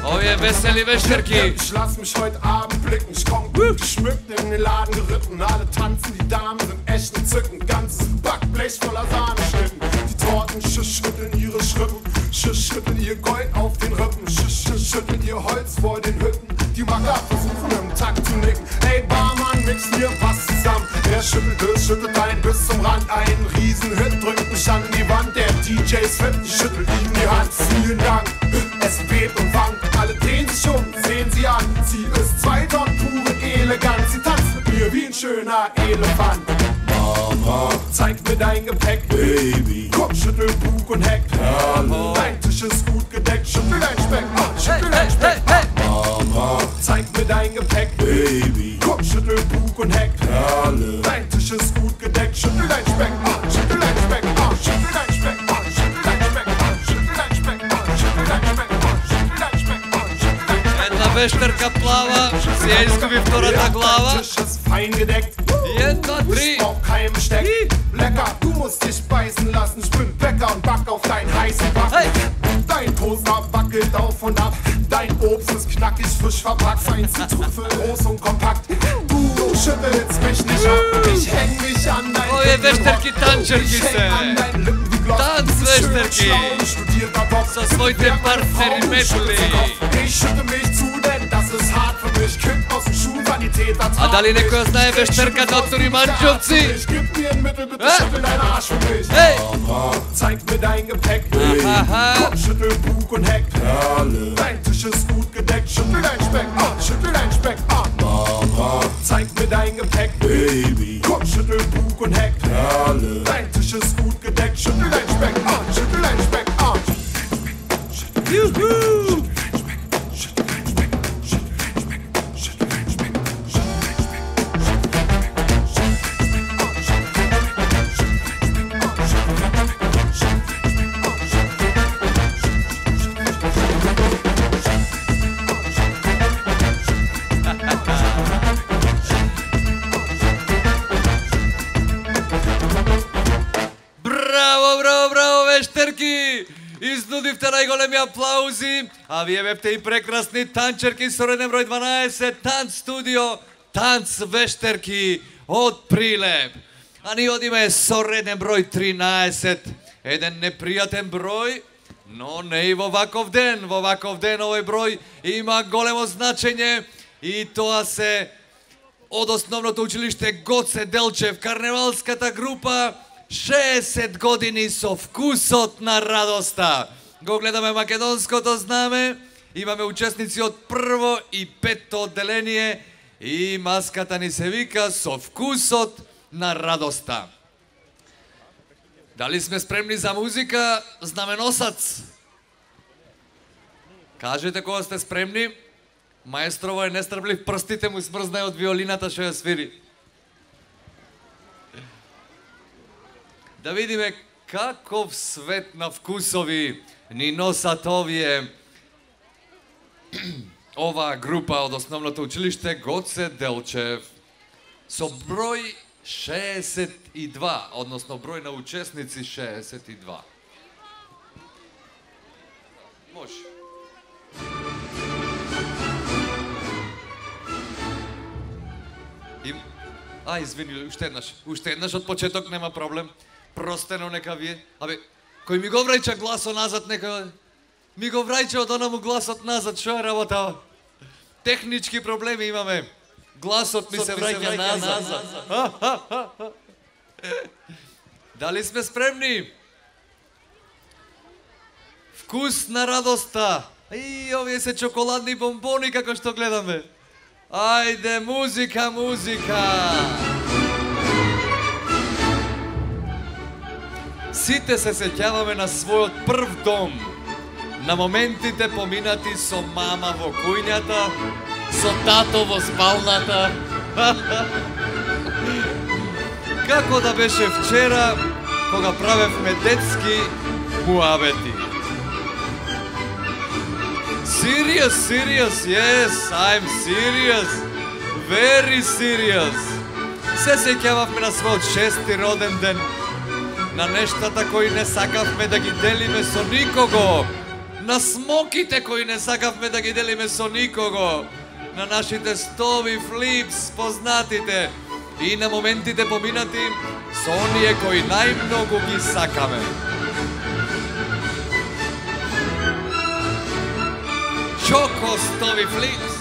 Ovje weseli Wäscherki. Ich lass mich heute Abend blicken, ich komm gut geschmückt in den Laden geritten. Alle tanzen, die Damen sind echt entzückend. Ganzes Backblech voller Sahneschnitten. Die Torten schütteln ihre Schrippen, schütteln ihr Gold auf den Rippen, schütteln ihr Holz vor den Hütten. Die Macker versuchen im Takt zu nicken. Ey Barmann, mix mir was zusammen. Wer schüttelt ein bis zum Rand. Ein Riesenhit drückt mich an die Wand. Der DJ ist fit, schüttelt ihm die Hand. Vielen Dank, es bebt und wankt. Alle drehen sich um, sehen sie an. Sie ist 2 Tonnen pure Eleganz. Sie tanzt mit mir wie ein schöner Elefant. Mama, zeig mir dein Gepäck, Baby. Komm, schüttel Bug und Heck. Perle, dein Tisch ist gut gedeckt. Schüttel dein Speck, schüttel dein Speck. Mama, zeig mir dein Gepäck, Baby. Komm, schüttel Bug und Heck. Perle, dein Tisch ist gut gedeckt. Schüttel dein Speck, schüttel dein Speck, schüttel dein Speck, schüttel dein Speck, schüttel dein Speck, schüttel dein Speck. Вештерка плава, си ја изгуби втората глава. Lecker, du musst dich beißen lassen. Ich bin Bäcker und back auf deinen heißen Backen. Dein Toaster wackelt auf und ab. Dein Obst ist knackig, frisch verpackt. Feinste Trüffel, groß und kompakt. Du schüttelst mich nicht ab. Ich häng mich an dein Вештерки танчерки се. Танц вештерки. Со своите партнери метли. Ich schütte mich zu, denn das ist hart für mich. Kind aus dem Schulsanitäter. А дали некој знае вештерката од Туриманџовци? Gib mir ein Mittel, bitte schüttel deinen Arsch für mich. Mama, zeig mir dein Gepäck. Komm, schüttel Bug und Heck. Perle, dein Tisch ist gut gedeckt. Schüttel dein Speck, schüttel dein Speck. Mama, dein Gepäck, Baby. Komm, schüttel Bug und Heck, Perle. Dein Tisch ist gut gedeckt, schüttel dein Speckarm, schüttel dein Speckarm. Juhu! Изнудивте најголеми аплаузи, а вие бевте и прекрасни танчерки со реден број 12, танц студио, танц вештерки од Прилеп. А ние одиме со реден број 13, еден непријатен број, но не и во ваков ден. Во ваков ден овој број има големо значење и тоа се од основното училиште Гоце Делчев, карневалската група 60 години со вкусот на радоста. Го гледаме македонското знаме, имаме учесници од прво и петто одделение и маската ни се вика со вкусот на радоста. Дали сме спремни за музика, знаменосац? Кажете кога сте спремни. Маестрово е нестрплив, прстите му смрзнај од виолината што ја свири. Да видиме каков свет на вкусови ни носат оваа група од основното училиште Гоце Делчев. Со број 62, односно број на учесници 62. Може. Извини, уште еднаш од почеток, нема проблем. Простено нека вие. Абе, кој ми го враќа гласот назад, нека ми го враќа од онаму гласот назад, што е работа? Технички проблеми имаме. Гласот ми се враќа назад. Дали сме спремни? Вкус на радоста. И овие се чоколадни бомбони како што гледаме. Ајде, музика, музика! Сите се сеќаваме на својот прв дом, на моментите поминати со мама во кујњата, со тато во спалната. Како да беше вчера, кога правевме детски муабети. Serious, yes, I'm serious, very serious. Се сеќававме на својот 6-ти роден ден, на нештата кои не сакавме да ги делиме со никого, на смоките кои не сакавме да ги делиме со никого, на нашите стови флипс, познатите, и на моментите поминати со оние кои најмногу ги сакаме. Чоко стови флипс.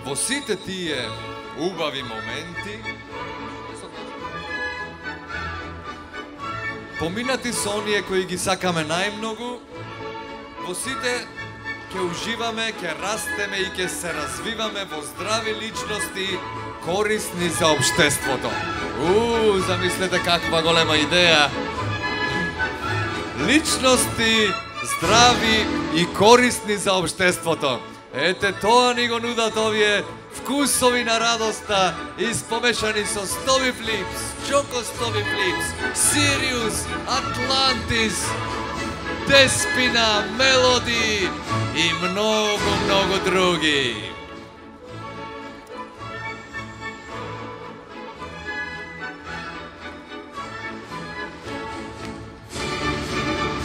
Во сите тие убави моменти, поминати со оние кои ги сакаме најмногу, во сите ќе уживаме, ќе растеме и ќе се развиваме во здрави личности, корисни за општеството. Замислете каква голема идеја. Личности здрави и корисни за општеството. Ете тоа ни го нудат овие вкусови на радоста, испомешани со стови флипс, чоко стови флипс, Сириус, Атлантис, Деспина, Мелоди и многу други.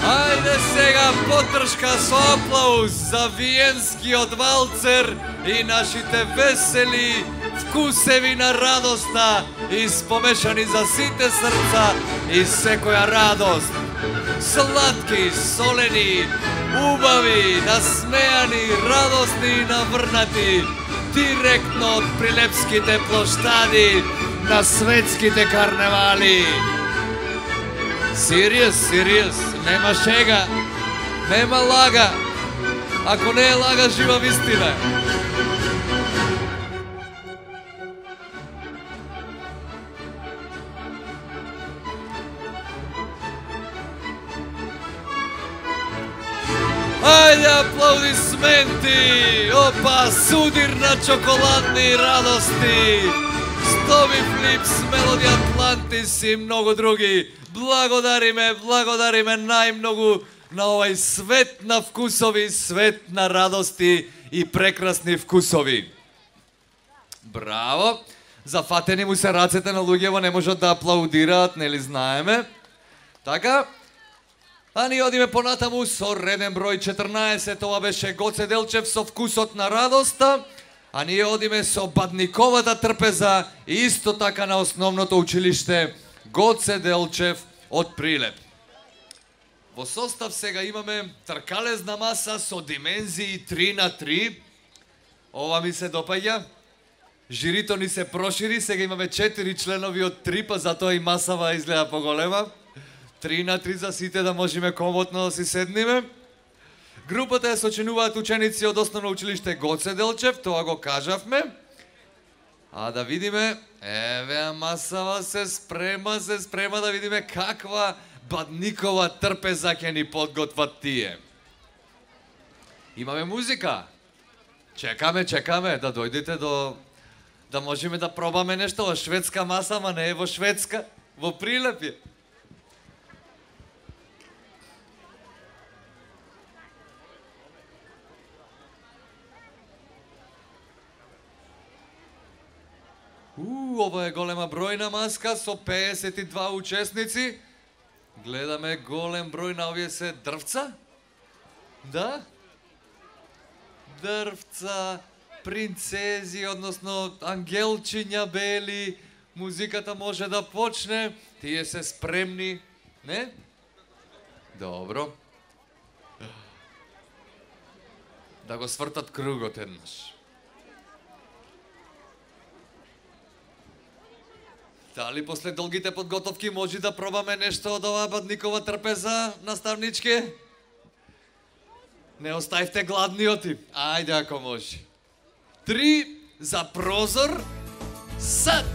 Ајде сега потршка со аплауз за виенскиот валцер и нашите весели вкусеви на радоста, испомешани за сите срца и секоја радост. Сладки, солени, убави, насмеани, радосни и наврнати, директно од прилепските плоштади на светските карневали. Serious, нема шега, нема лага. Ако не е лага, жива вистина е. Ајде, аплаудисменти! Опа, судир на чоколадни радости! Стоби Флипс, Мелоди Атлантис и многу други. Благодариме најмногу на овај свет на вкусови, свет на радости и прекрасни вкусови. Браво! Зафатени му се рацете на луѓево, не можат да аплаудираат, нели знаеме. Така? А ние одиме понатаму со реден број 14, ова беше Гоце Делчев со вкусот на радоста, а ние одиме со Бадниковата трпеза и исто така на основното училиште Гоце Делчев од Прилеп. Во состав сега имаме тркалезна маса со димензии 3x3. Ова ми се допаѓа. Жирито ни се прошири, сега имаме 4 членови од 3, па затоа и масава изгледа поголема. 3x3 за сите да можеме комотно да си седниме. Групата ја сочинуваат ученици од основно училиште Гоце Делчев, тоа го кажавме. А да видиме, еве масава се спрема да видиме каква Бадникова трпеза ќе ни подготват тие. Имаме музика. Чекаме да дојдете да можеме да пробаме нешто во шведска маса, ама не е во Шведска, во Прилеп е. Ова е голема бројна маска со 52 учесници. Гледаме голем број на овие се дрвца. Да? Дрвца, принцези, односно ангелчиња бели. Музиката може да почне. Тие се спремни, не? Добро. Да го свртат кругот еднаш. Дали после долгите подготовки може да пробаме нешто од оваа Бадникова трпеза, наставнички? Не оставите гладниоти. Ајде ако може. 3 за прозор, сад!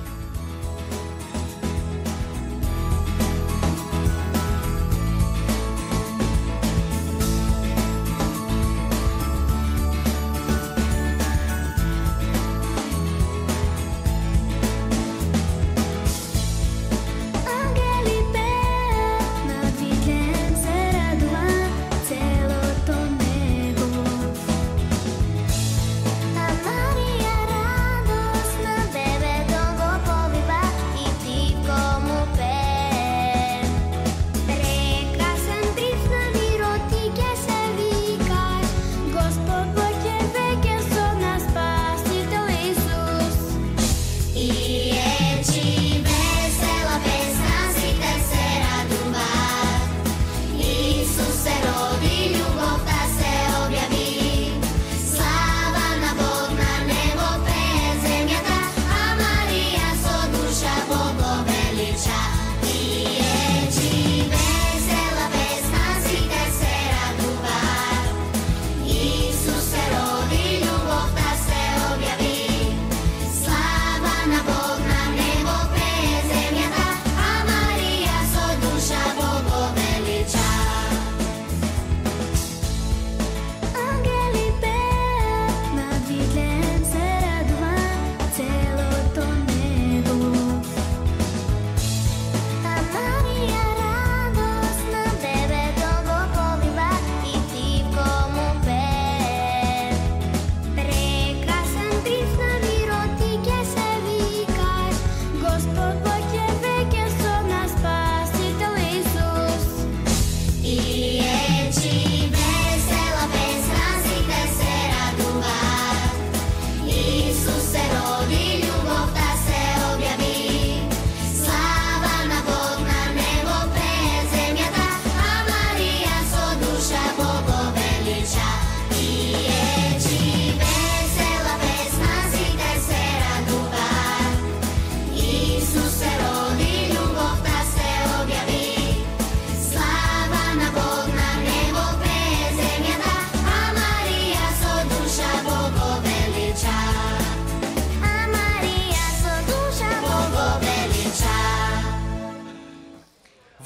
Maria radosna bebe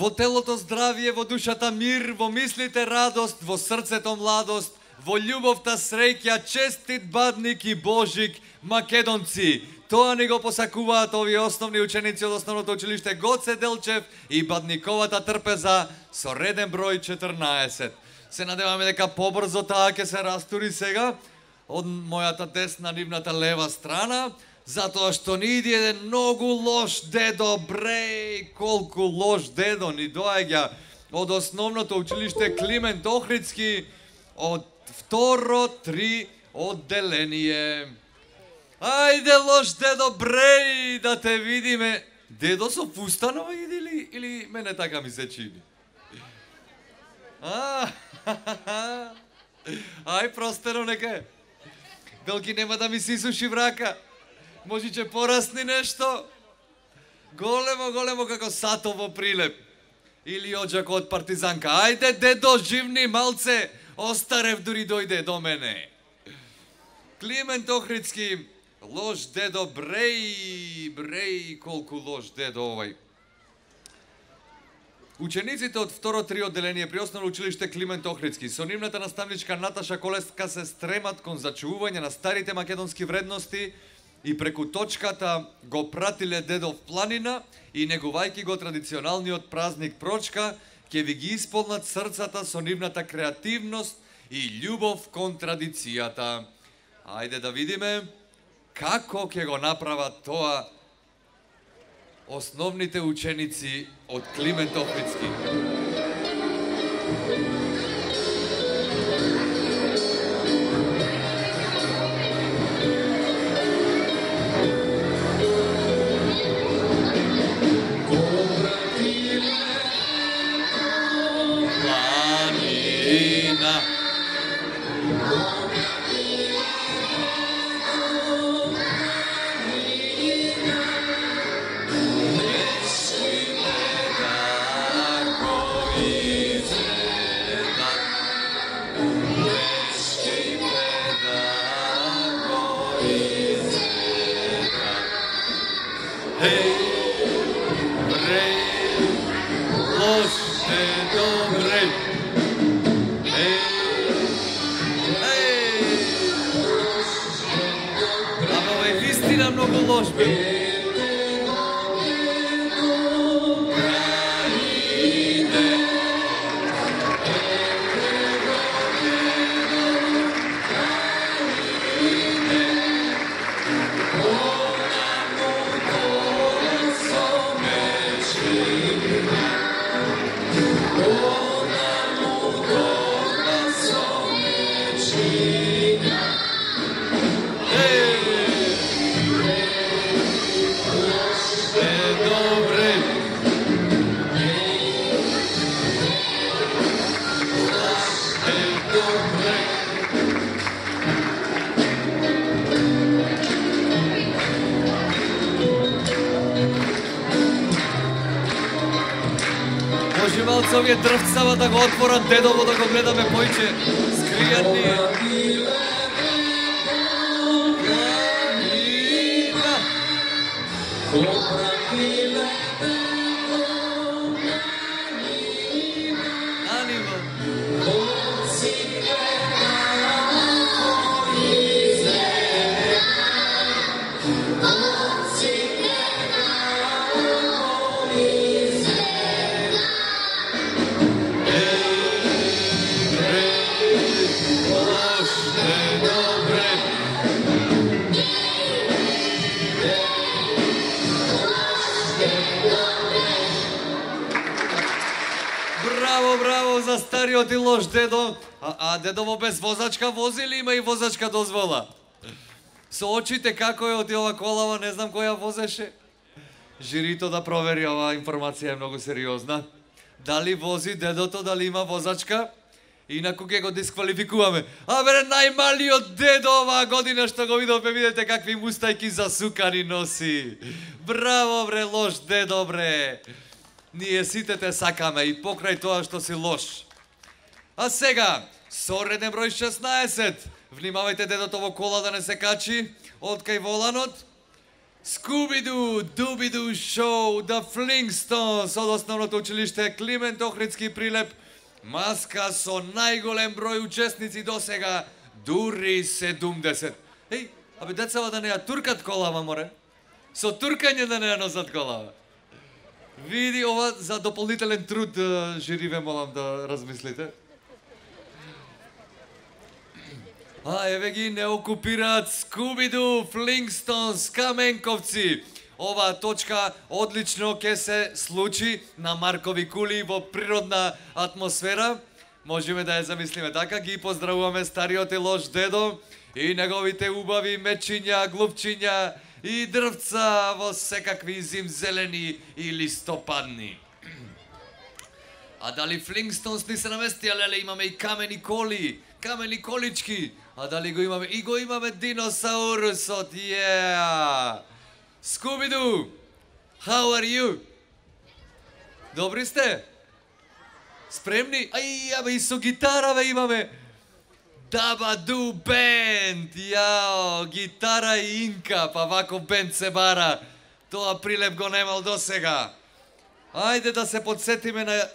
Во телото здравие, во душата мир, во мислите радост, во срцето младост, во љубовта среќа, честит бадник и Божик, македонци. Тоа ни го посакуваат овие основни ученици од Основното училиште Гоце Делчев и бадниковата трпеза со реден број 14. Се надеваме дека побрзо таа ќе се растури сега од мојата десна, нивната лева страна, затоа што ни иди еден многу лош дедо, бреј, колку лош дедо ни доаѓа од Основното училиште Климент Охридски од второ 3 одделение. Ајде лош дедо, бреј, да те видиме. Дедо со фустанова иди или мене така ми се чини? Ај, простено нека е. Белки нема да ми се исуши врака. Можиче порасни нешто. Големо како сатово прилеп. Или оджако од партизанка. Ајде, дедо, живни малце. Остарев дури дојде до мене. Климент Охридски, лош дедо, бреј, колку лош дедо овај. Учениците од второ 3 одделение при Основно училиште Климент Охридски со нивната наставничка Наташа Колеска се стремат кон зачувување на старите македонски вредности и преку точката го пратиле дедов планина и негувајќи го традиционалниот празник Прочка, ќе ви ги исполнат срцата со нивната креативност и љубов кон традицијата. Ајде да видиме како ќе го направат тоа основните ученици од Климент Охридски. Овие дрвцава да го отворат дедово, да го гледаме појче скријани. Браво за стариот и лош дедо. А дедово без возачка вози или има и возачка дозвола? Со очите како е од ова колава, не знам која возеше. Жирито да провери, ова информација е многу сериозна. Дали вози дедото, дали има возачка? Инаку ќе го дисквалификуваме. А бере, најмалиот дедо оваа година што го видовме, видете какви мустајки засукани носи. Браво бре, лош дедо бре. Ние сите те сакаме и покрај тоа што си лош. А сега, со реден број 16, внимавајте дедото во кола да не се качи од кај воланот. Scooby-Doo, Dooby-Doo Show, The Flintstones од основното училиште Климент Охридски Прилеп, маска со најголем број учесници до сега, дури 70. Еј, абе децава да не ја туркат колава, море. Со туркање да не ја носат колава. Види ова за дополнителен труд, жириве, молам да размислите. А, еве ги не окупираат Scooby-Doo, Flintstones, Каменковци. Оваа точка одлично ќе се случи на Маркови кули во природна атмосфера. Можеме да ја замислиме така. Ги поздравуваме стариот и лош дедо и неговите убави мечиња, глупчиња и дрвца во секакви зимзелени и листопадни. А дали Flintstones ни се наместија, леле, имаме и камени коли, камени колички. А дали го имаме? И го имаме диносаурусот, Scooby-Doo, how are you? Добри сте? Спремни? Ај, абе, и со гитара, бе, имаме. Dabba-Doo Band, јао, гитара и инка, па вако бенд се бара. Тоа Прилеп го немал до сега. Ајде да се подсетиме на...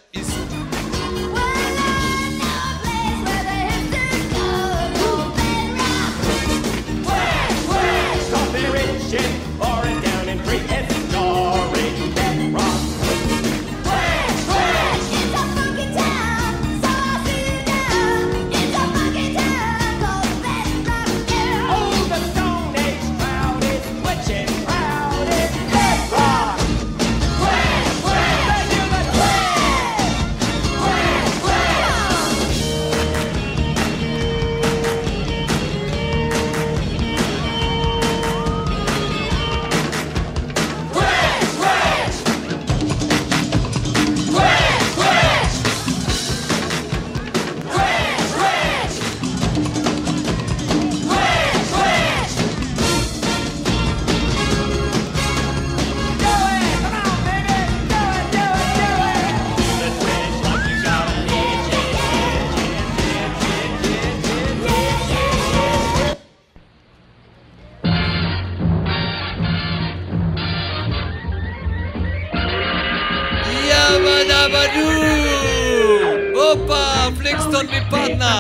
Опа, Флинкстон ми падна!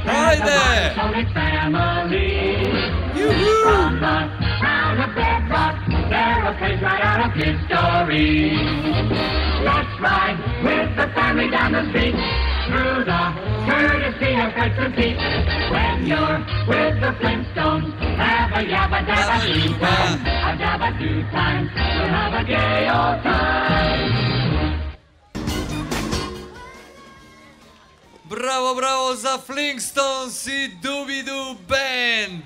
Ајде! Let's ride with the family down the street through the courtesy of Hudson Pete. When you're with the Flintstones, have a yabba dabba doo time, a dabba doo time. We'll have a gay old time. Браво, браво за Flintstones и Dooby-Doo Band!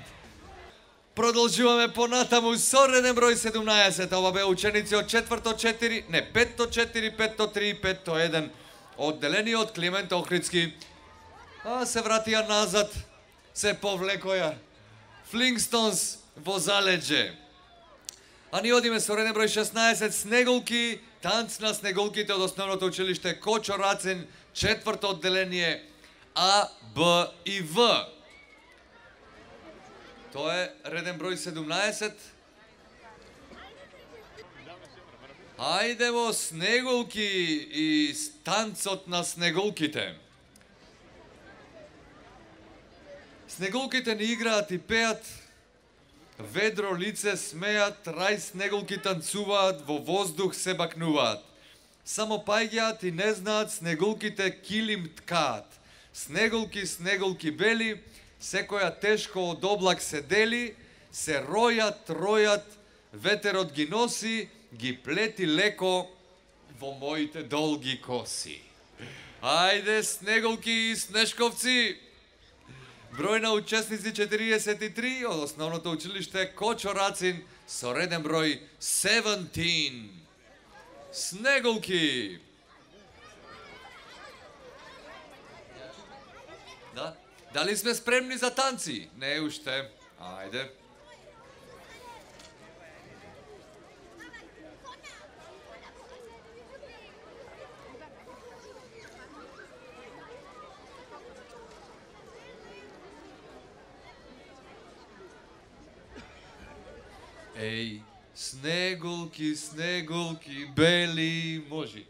Продолжуваме понатаму со реден број 17. Ова бе ученици од 4-4, не, 5-4, 5-3, 5-1 одделени од Климент Охридски. А се вратија назад, се повлекоја. Flintstones во залеđe. А ни одиме со реден број 16, Снеголки, танц на снеголките од основното училиште Кочо Рацин, 4-то одделение А, Б и В. Тоа е реден број 17. Ајде во Снеголки и танцот на снеголките. Снеголките ни играат и пеат, ведро лице смеат, рај снеголки танцуваат, во воздух се бакнуваат. Само паѓаат и не знаат, снеголките килим ткаат. Снеголки, снеголки бели, секоја тешко од облак се дели, се ројат, ројат, ветерот ги носи, ги плети леко во моите долги коси. Ајде, Снеголки и Снешковци! Број на учесници 43 од основното училиште Кочо Рацин со реден број 17. Снеголки! Да? Дали сме спремни за танци? Не уште. Ајде. Еј, снеголки, снеголки, бели, можи.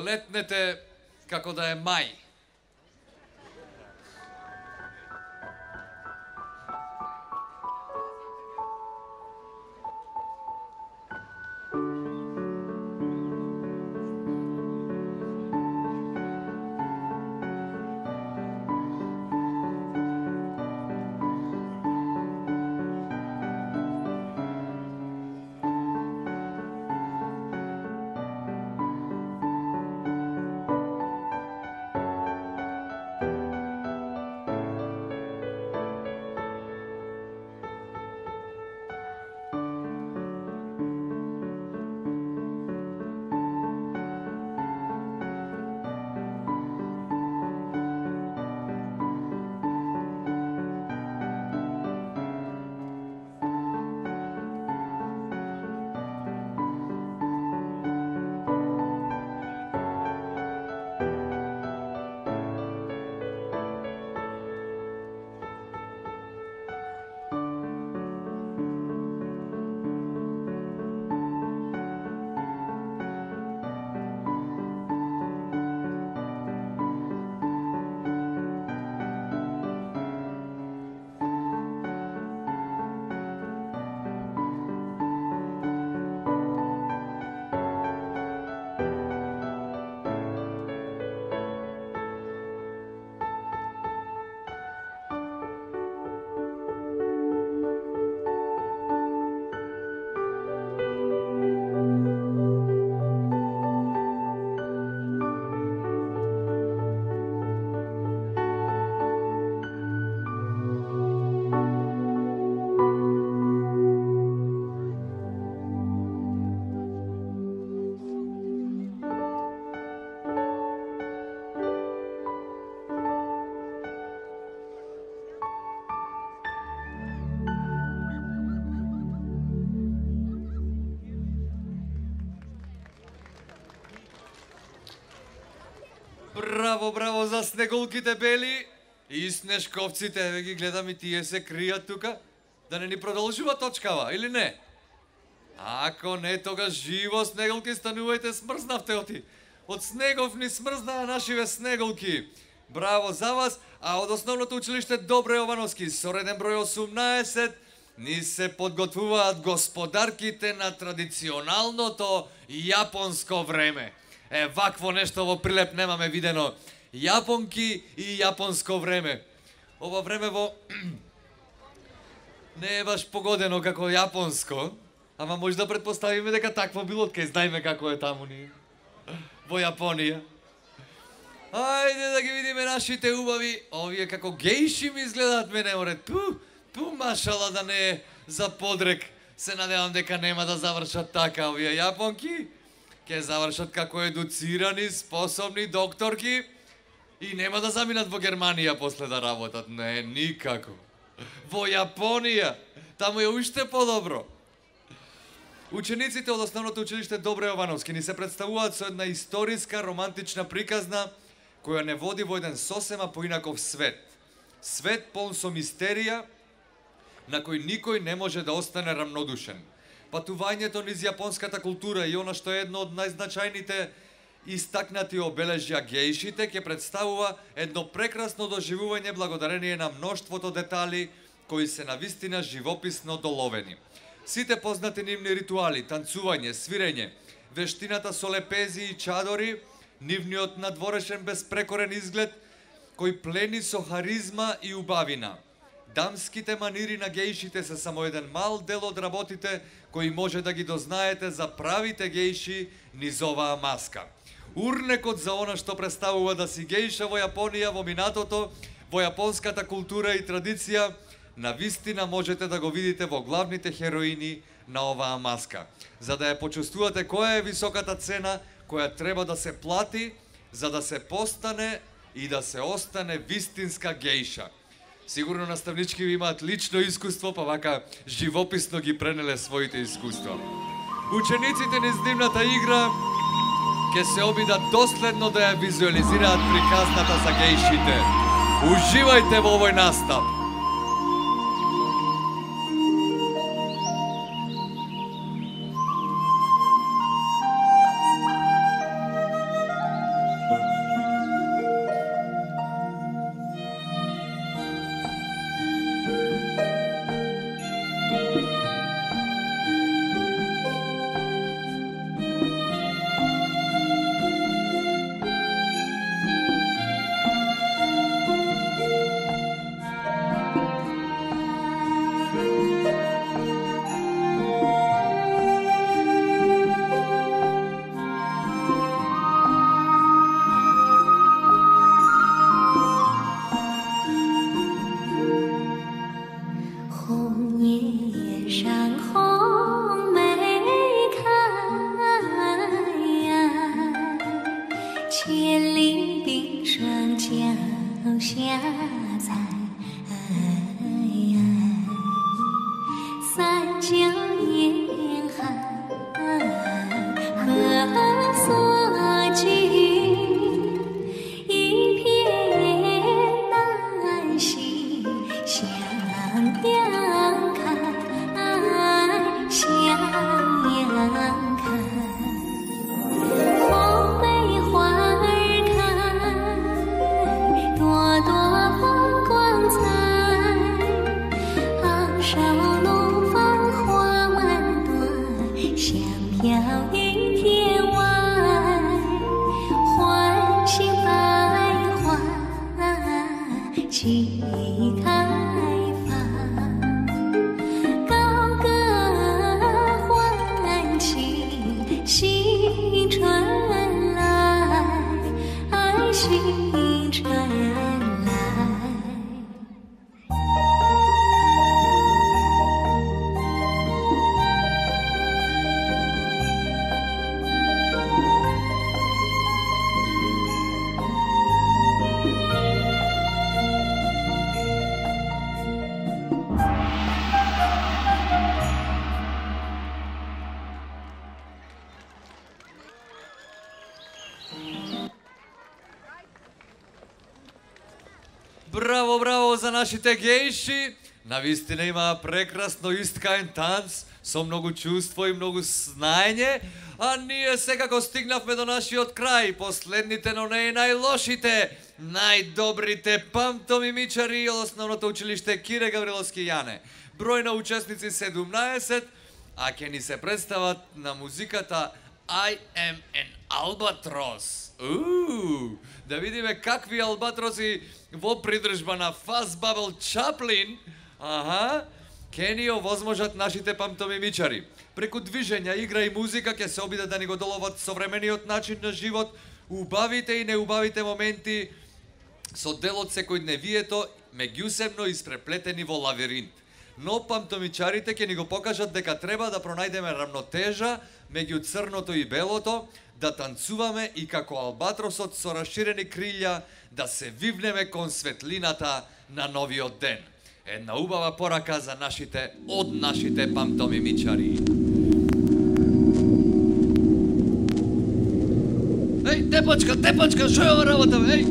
Летнете како да е мај. Браво, браво за снеголките бели и снешковците. Еве ги гледам и тие се кријат тука. Да не ни продолжува точкава, или не? Ако не, тогаш живо снеголки станувајте, смрзнавте оти. Од снегов ни смрзнаа нашиве снеголки. Браво за вас, а од основното училиште Добро Јовановски со реден број 18 ни се подготвуваат господарките на традиционалното јапонско време. Вакво нешто во Прилеп немаме видено. Јапонки и јапонско време. Ова време не е баш погодено како јапонско, ама може да предпоставиме дека такво било, кај знаеме како е таму ние. Во Јапонија. Ајде да ги видиме нашите убави. Овие како гејши ми изгледаат мене, море. Ту машала да не е за подрек. Се надевам дека нема да завршат така овие јапонки. Ке завршат како едуцирани, способни докторки и нема да заминат во Германија после да работат. Не, никако. Во Јапонија. Таму е уште подобро. Учениците од основното училиште Добро Јовановски ни се представуваат со една историска, романтична приказна која не води во еден сосема поинаков свет. Свет полн со мистерија на кој никој не може да остане рамнодушен. Патувањето низ јапонската култура и она што е едно од најзначајните истакнати обележја гејшите ќе представува едно прекрасно доживување благодарение на мноштвото детали кои се навистина живописно доловени. Сите познати нивни ритуали, танцување, свирење, вештината со лепези и чадори, нивниот надворешен безпрекорен изглед кој плени со харизма и убавина. Дамските манири на гејшите се само еден мал дел од работите кои може да ги дознаете за правите гејши низ оваа маска. Урнекот за она што представува да си гејша во Јапонија во минатото, во јапонската култура и традиција, навистина можете да го видите во главните хероини на оваа маска. За да ја почувствувате која е високата цена која треба да се плати за да се постане и да се остане вистинска гејша. Сигурно наставнички ви имаат лично искуство, па вака живописно ги пренеле своите искуства. Учениците низ нивната игра ќе се обидат доследно да ја визуализираат приказната за гејшите. Уживајте во овој настап! 现在，三江沿海何所居？一片丹心向阳开，向阳开。红梅花儿开，朵朵放光彩。昂首怒放花满朵，香飘于天外。欢喜百花齐开放，高歌欢庆新春来，新春来。Браво, браво за нашите гејши! Навистина има прекрасно искаен танц со многу чувство и многу знаење, а ние секако стигнавме до нашиот крај, последните, но не и најлошите, најдобрите памтомимичари од основното училиште Кире Гавриловски Јане. Број на учесници 17, а ќе ни се представат на музиката I am an albatross. Да видиме какви албатроси во придржба на Fuzz Bubble Chaplin, ќе ни овозможат нашите памтомимичари. Преку движења, игра и музика ќе се обидат да ни го доловат современиот начин на живот, убавите и неубавите моменти со дел од секојдневието, меѓусебно испреплетени во лавиринт. Но памтомичарите ќе ни го покажат дека треба да пронајдеме рамнотежа меѓу црното и белото, да танцуваме и како албатросот со расширени крилја да се вивнеме кон светлината на новиот ден. Една убава порака за нашите, од нашите памтомимичари. Еј, тепачка, шо е ова работа, бе, еј?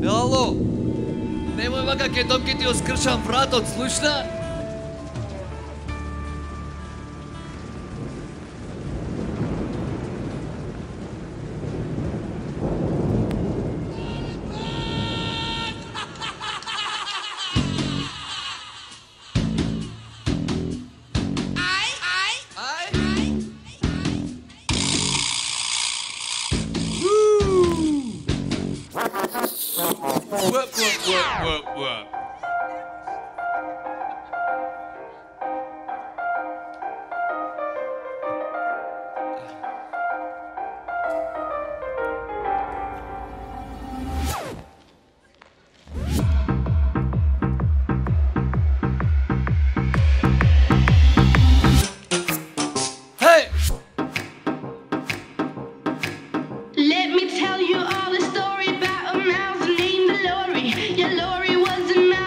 Ало, немој вака ке домки ти оскршам вратот, слушна? What? Hey! Let me tell you all the story about a mouse named Lori. Yeah, Lori was a mouse.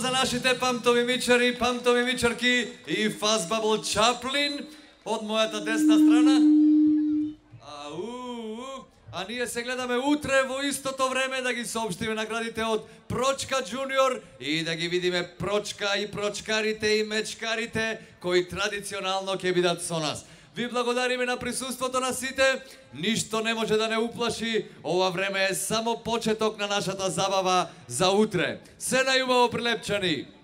за нашите памтови мичари, памтови мичарки и Фазбабл Чаплин од мојата десна страна. А ние се гледаме утре во истото време да ги соопштиме наградите од Прочка Джуниор и да ги видиме Прочка и прочкарите и мечкарите кои традиционално ќе бидат со нас. Ви благодариме на присуството на сите. Ништо не може да не уплаши. Ова време е само почеток на нашата забава за утре. Се најубаво, Прилепчани!